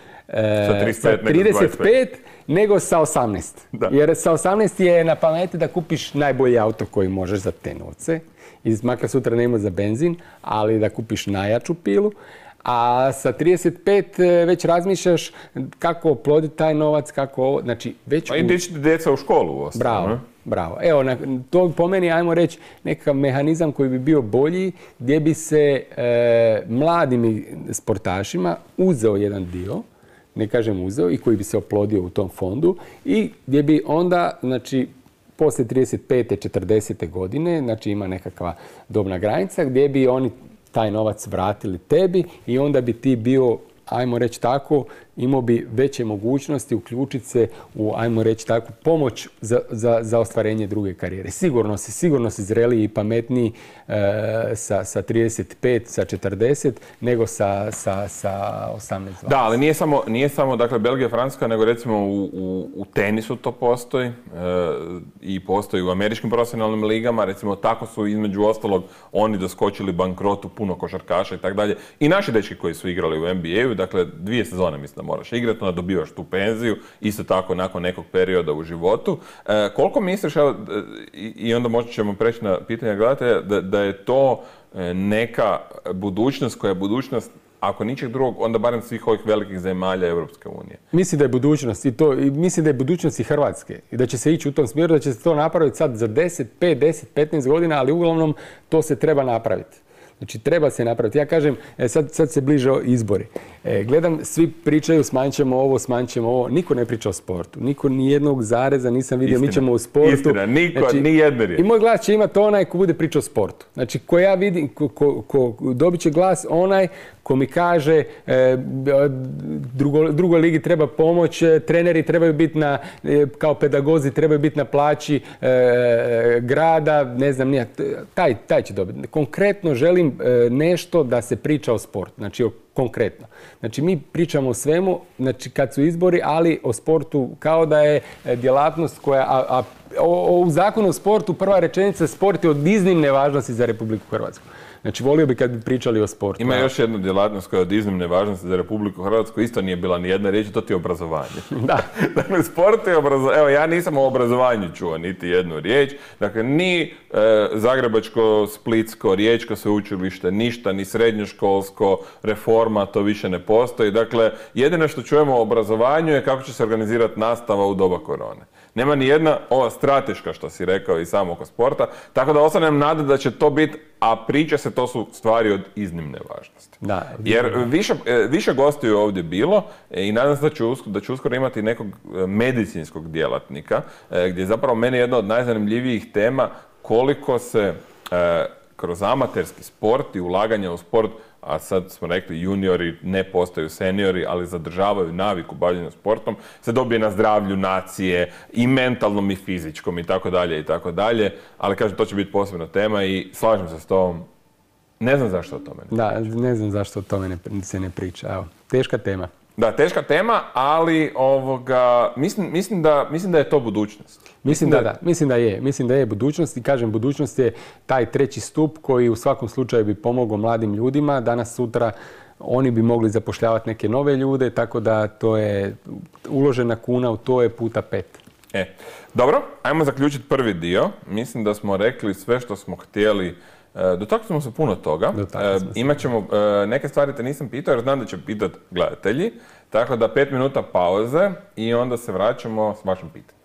sa
trideset pet nego sa osamnaest. Da. Jer sa osamnaest je na pameti da kupiš najbolji auto koji možeš za te novce. I makar sutra nema za benzin, ali da kupiš najjaču pilu. A sa trideset pet već razmišljaš kako oploditi taj novac, kako ovo, znači već...
A i gdje ćete djeca u školu u osnovu.
Bravo,
ne?
bravo. Evo, na, to po meni, ajmo reći, nekakav mehanizam koji bi bio bolji, gdje bi se e, mladim sportašima uzeo jedan dio, ne kažem uzeo, i koji bi se oplodio u tom fondu i gdje bi onda, znači, poslije trideset pete četrdesete godine, znači ima nekakva dobna granica, gdje bi oni taj novac vratili tebi i onda bi ti bio, ajmo reći tako, imao bi veće mogućnosti uključiti se u, ajmo reći tako, pomoć za, za, za ostvarenje druge karijere. Sigurno si, sigurno si zreliji i pametniji e, sa, sa trideset pet, sa četrdeset, nego sa, sa, sa osamnaest dvadeset.
Da, ali nije samo, nije samo dakle, Belgija, Francuska, nego recimo u, u, u tenisu to postoji e, i postoji u američkim profesionalnim ligama. Recimo tako su između ostalog oni doskočili bankrotu puno košarkaša i tako dalje. I naši dečki koji su igrali u N B A-u, dakle dvije sezone mislim moraš igrati, onda dobivaš tu penziju, isto tako nakon nekog perioda u životu. E, koliko misliš, evo, i, i onda možda ćemo preći na pitanje gledatelja, da, da je to neka budućnost koja je budućnost, ako ničeg drugog, onda barem svih ovih velikih zemalja Europske unije?
Mislim da je budućnost i to, i mislim da je budućnost i Hrvatske i da će se ići u tom smjeru, da će se to napraviti sad za deset, pet, deset, petnaest godina, ali uglavnom to se treba napraviti. Znači, treba se napraviti. Ja kažem, sad, sad se bliže izbori. E, gledam, svi pričaju smanjit ćemo ovo, smanjit ćemo ovo. Niko ne priča o sportu. Niko ni jednog zareza nisam vidio.
Istina.
Mi ćemo u sportu.
Istina, niko,
znači,
ni jedne riječi.
I moj glas će imati onaj ko bude pričao o sportu. Znači, ko ja vidim, ko, ko, ko dobit će glas onaj ko mi kaže e, drugo, drugoj ligi treba pomoć, treneri trebaju biti na, e, kao pedagozi trebaju biti na plaći e, grada, ne znam, nije, taj, taj će dobiti. Konkretno želim e, nešto da se priča o sportu, znači o konkretno. Znači mi pričamo o svemu, znači kad su izbori, ali o sportu kao da je djelatnost koja, a, a o, o, u zakonu o sportu prva rečenica, sport je od iznimne važnosti za Republiku Hrvatsku. Znači, volio bi kad bi pričali o sportu.
Ima još jedna djelatnost koja je od iznimne važnosti za Republiku Hrvatsku, isto nije bila ni jedna riječ, to ti je obrazovanje.
Da.
Dakle, sport je obrazovanje. Evo, ja nisam o obrazovanju čuo niti jednu riječ. Dakle, ni e, Zagrebačko, Splitsko, Riječko sveučilište, ništa, ni srednjoškolsko, reforma, to više ne postoji. Dakle, jedino što čujemo o obrazovanju je kako će se organizirati nastava u doba korone. Nema ni jedna ova strateška, što si rekao, i samo oko sporta, tako da ostanem nada da će to biti, a priča se, to su stvari od iznimne važnosti.
Da,
jer više, više gostiju je ovdje bilo i nadam se da ću, da ću uskoro imati nekog medicinskog djelatnika, gdje zapravo meni je jedna od najzanimljivijih tema koliko se e, kroz amaterski sport i ulaganje u sport, a sad smo rekli juniori ne postaju seniori, ali zadržavaju naviku bavljenja sportom, se dobije na zdravlju nacije i mentalnom i fizičkom i tako dalje i tako dalje, ali kažem, to će biti posebna tema i slažem se s tom. Ne znam zašto o tome ne
Da, ne znam zašto o tome ne, se ne priča. Evo, teška tema.
Da, teška tema, ali ovoga, mislim, mislim, da, mislim da je to budućnost.
Mislim, mislim da, da, da, mislim da je. Mislim da je budućnost i kažem, budućnost je taj treći stup koji u svakom slučaju bi pomogao mladim ljudima. Danas, sutra oni bi mogli zapošljavati neke nove ljude, tako da to je uložena kuna u to je puta pet.
E, dobro, ajmo zaključiti prvi dio. Mislim da smo rekli sve što smo htjeli. Dotakli smo se puno toga. E, imat ćemo, e, neke stvari te nisam pitao jer znam da će pitati gledatelji. Tako da pet minuta pauze i onda se vraćamo s vašim pitanjem.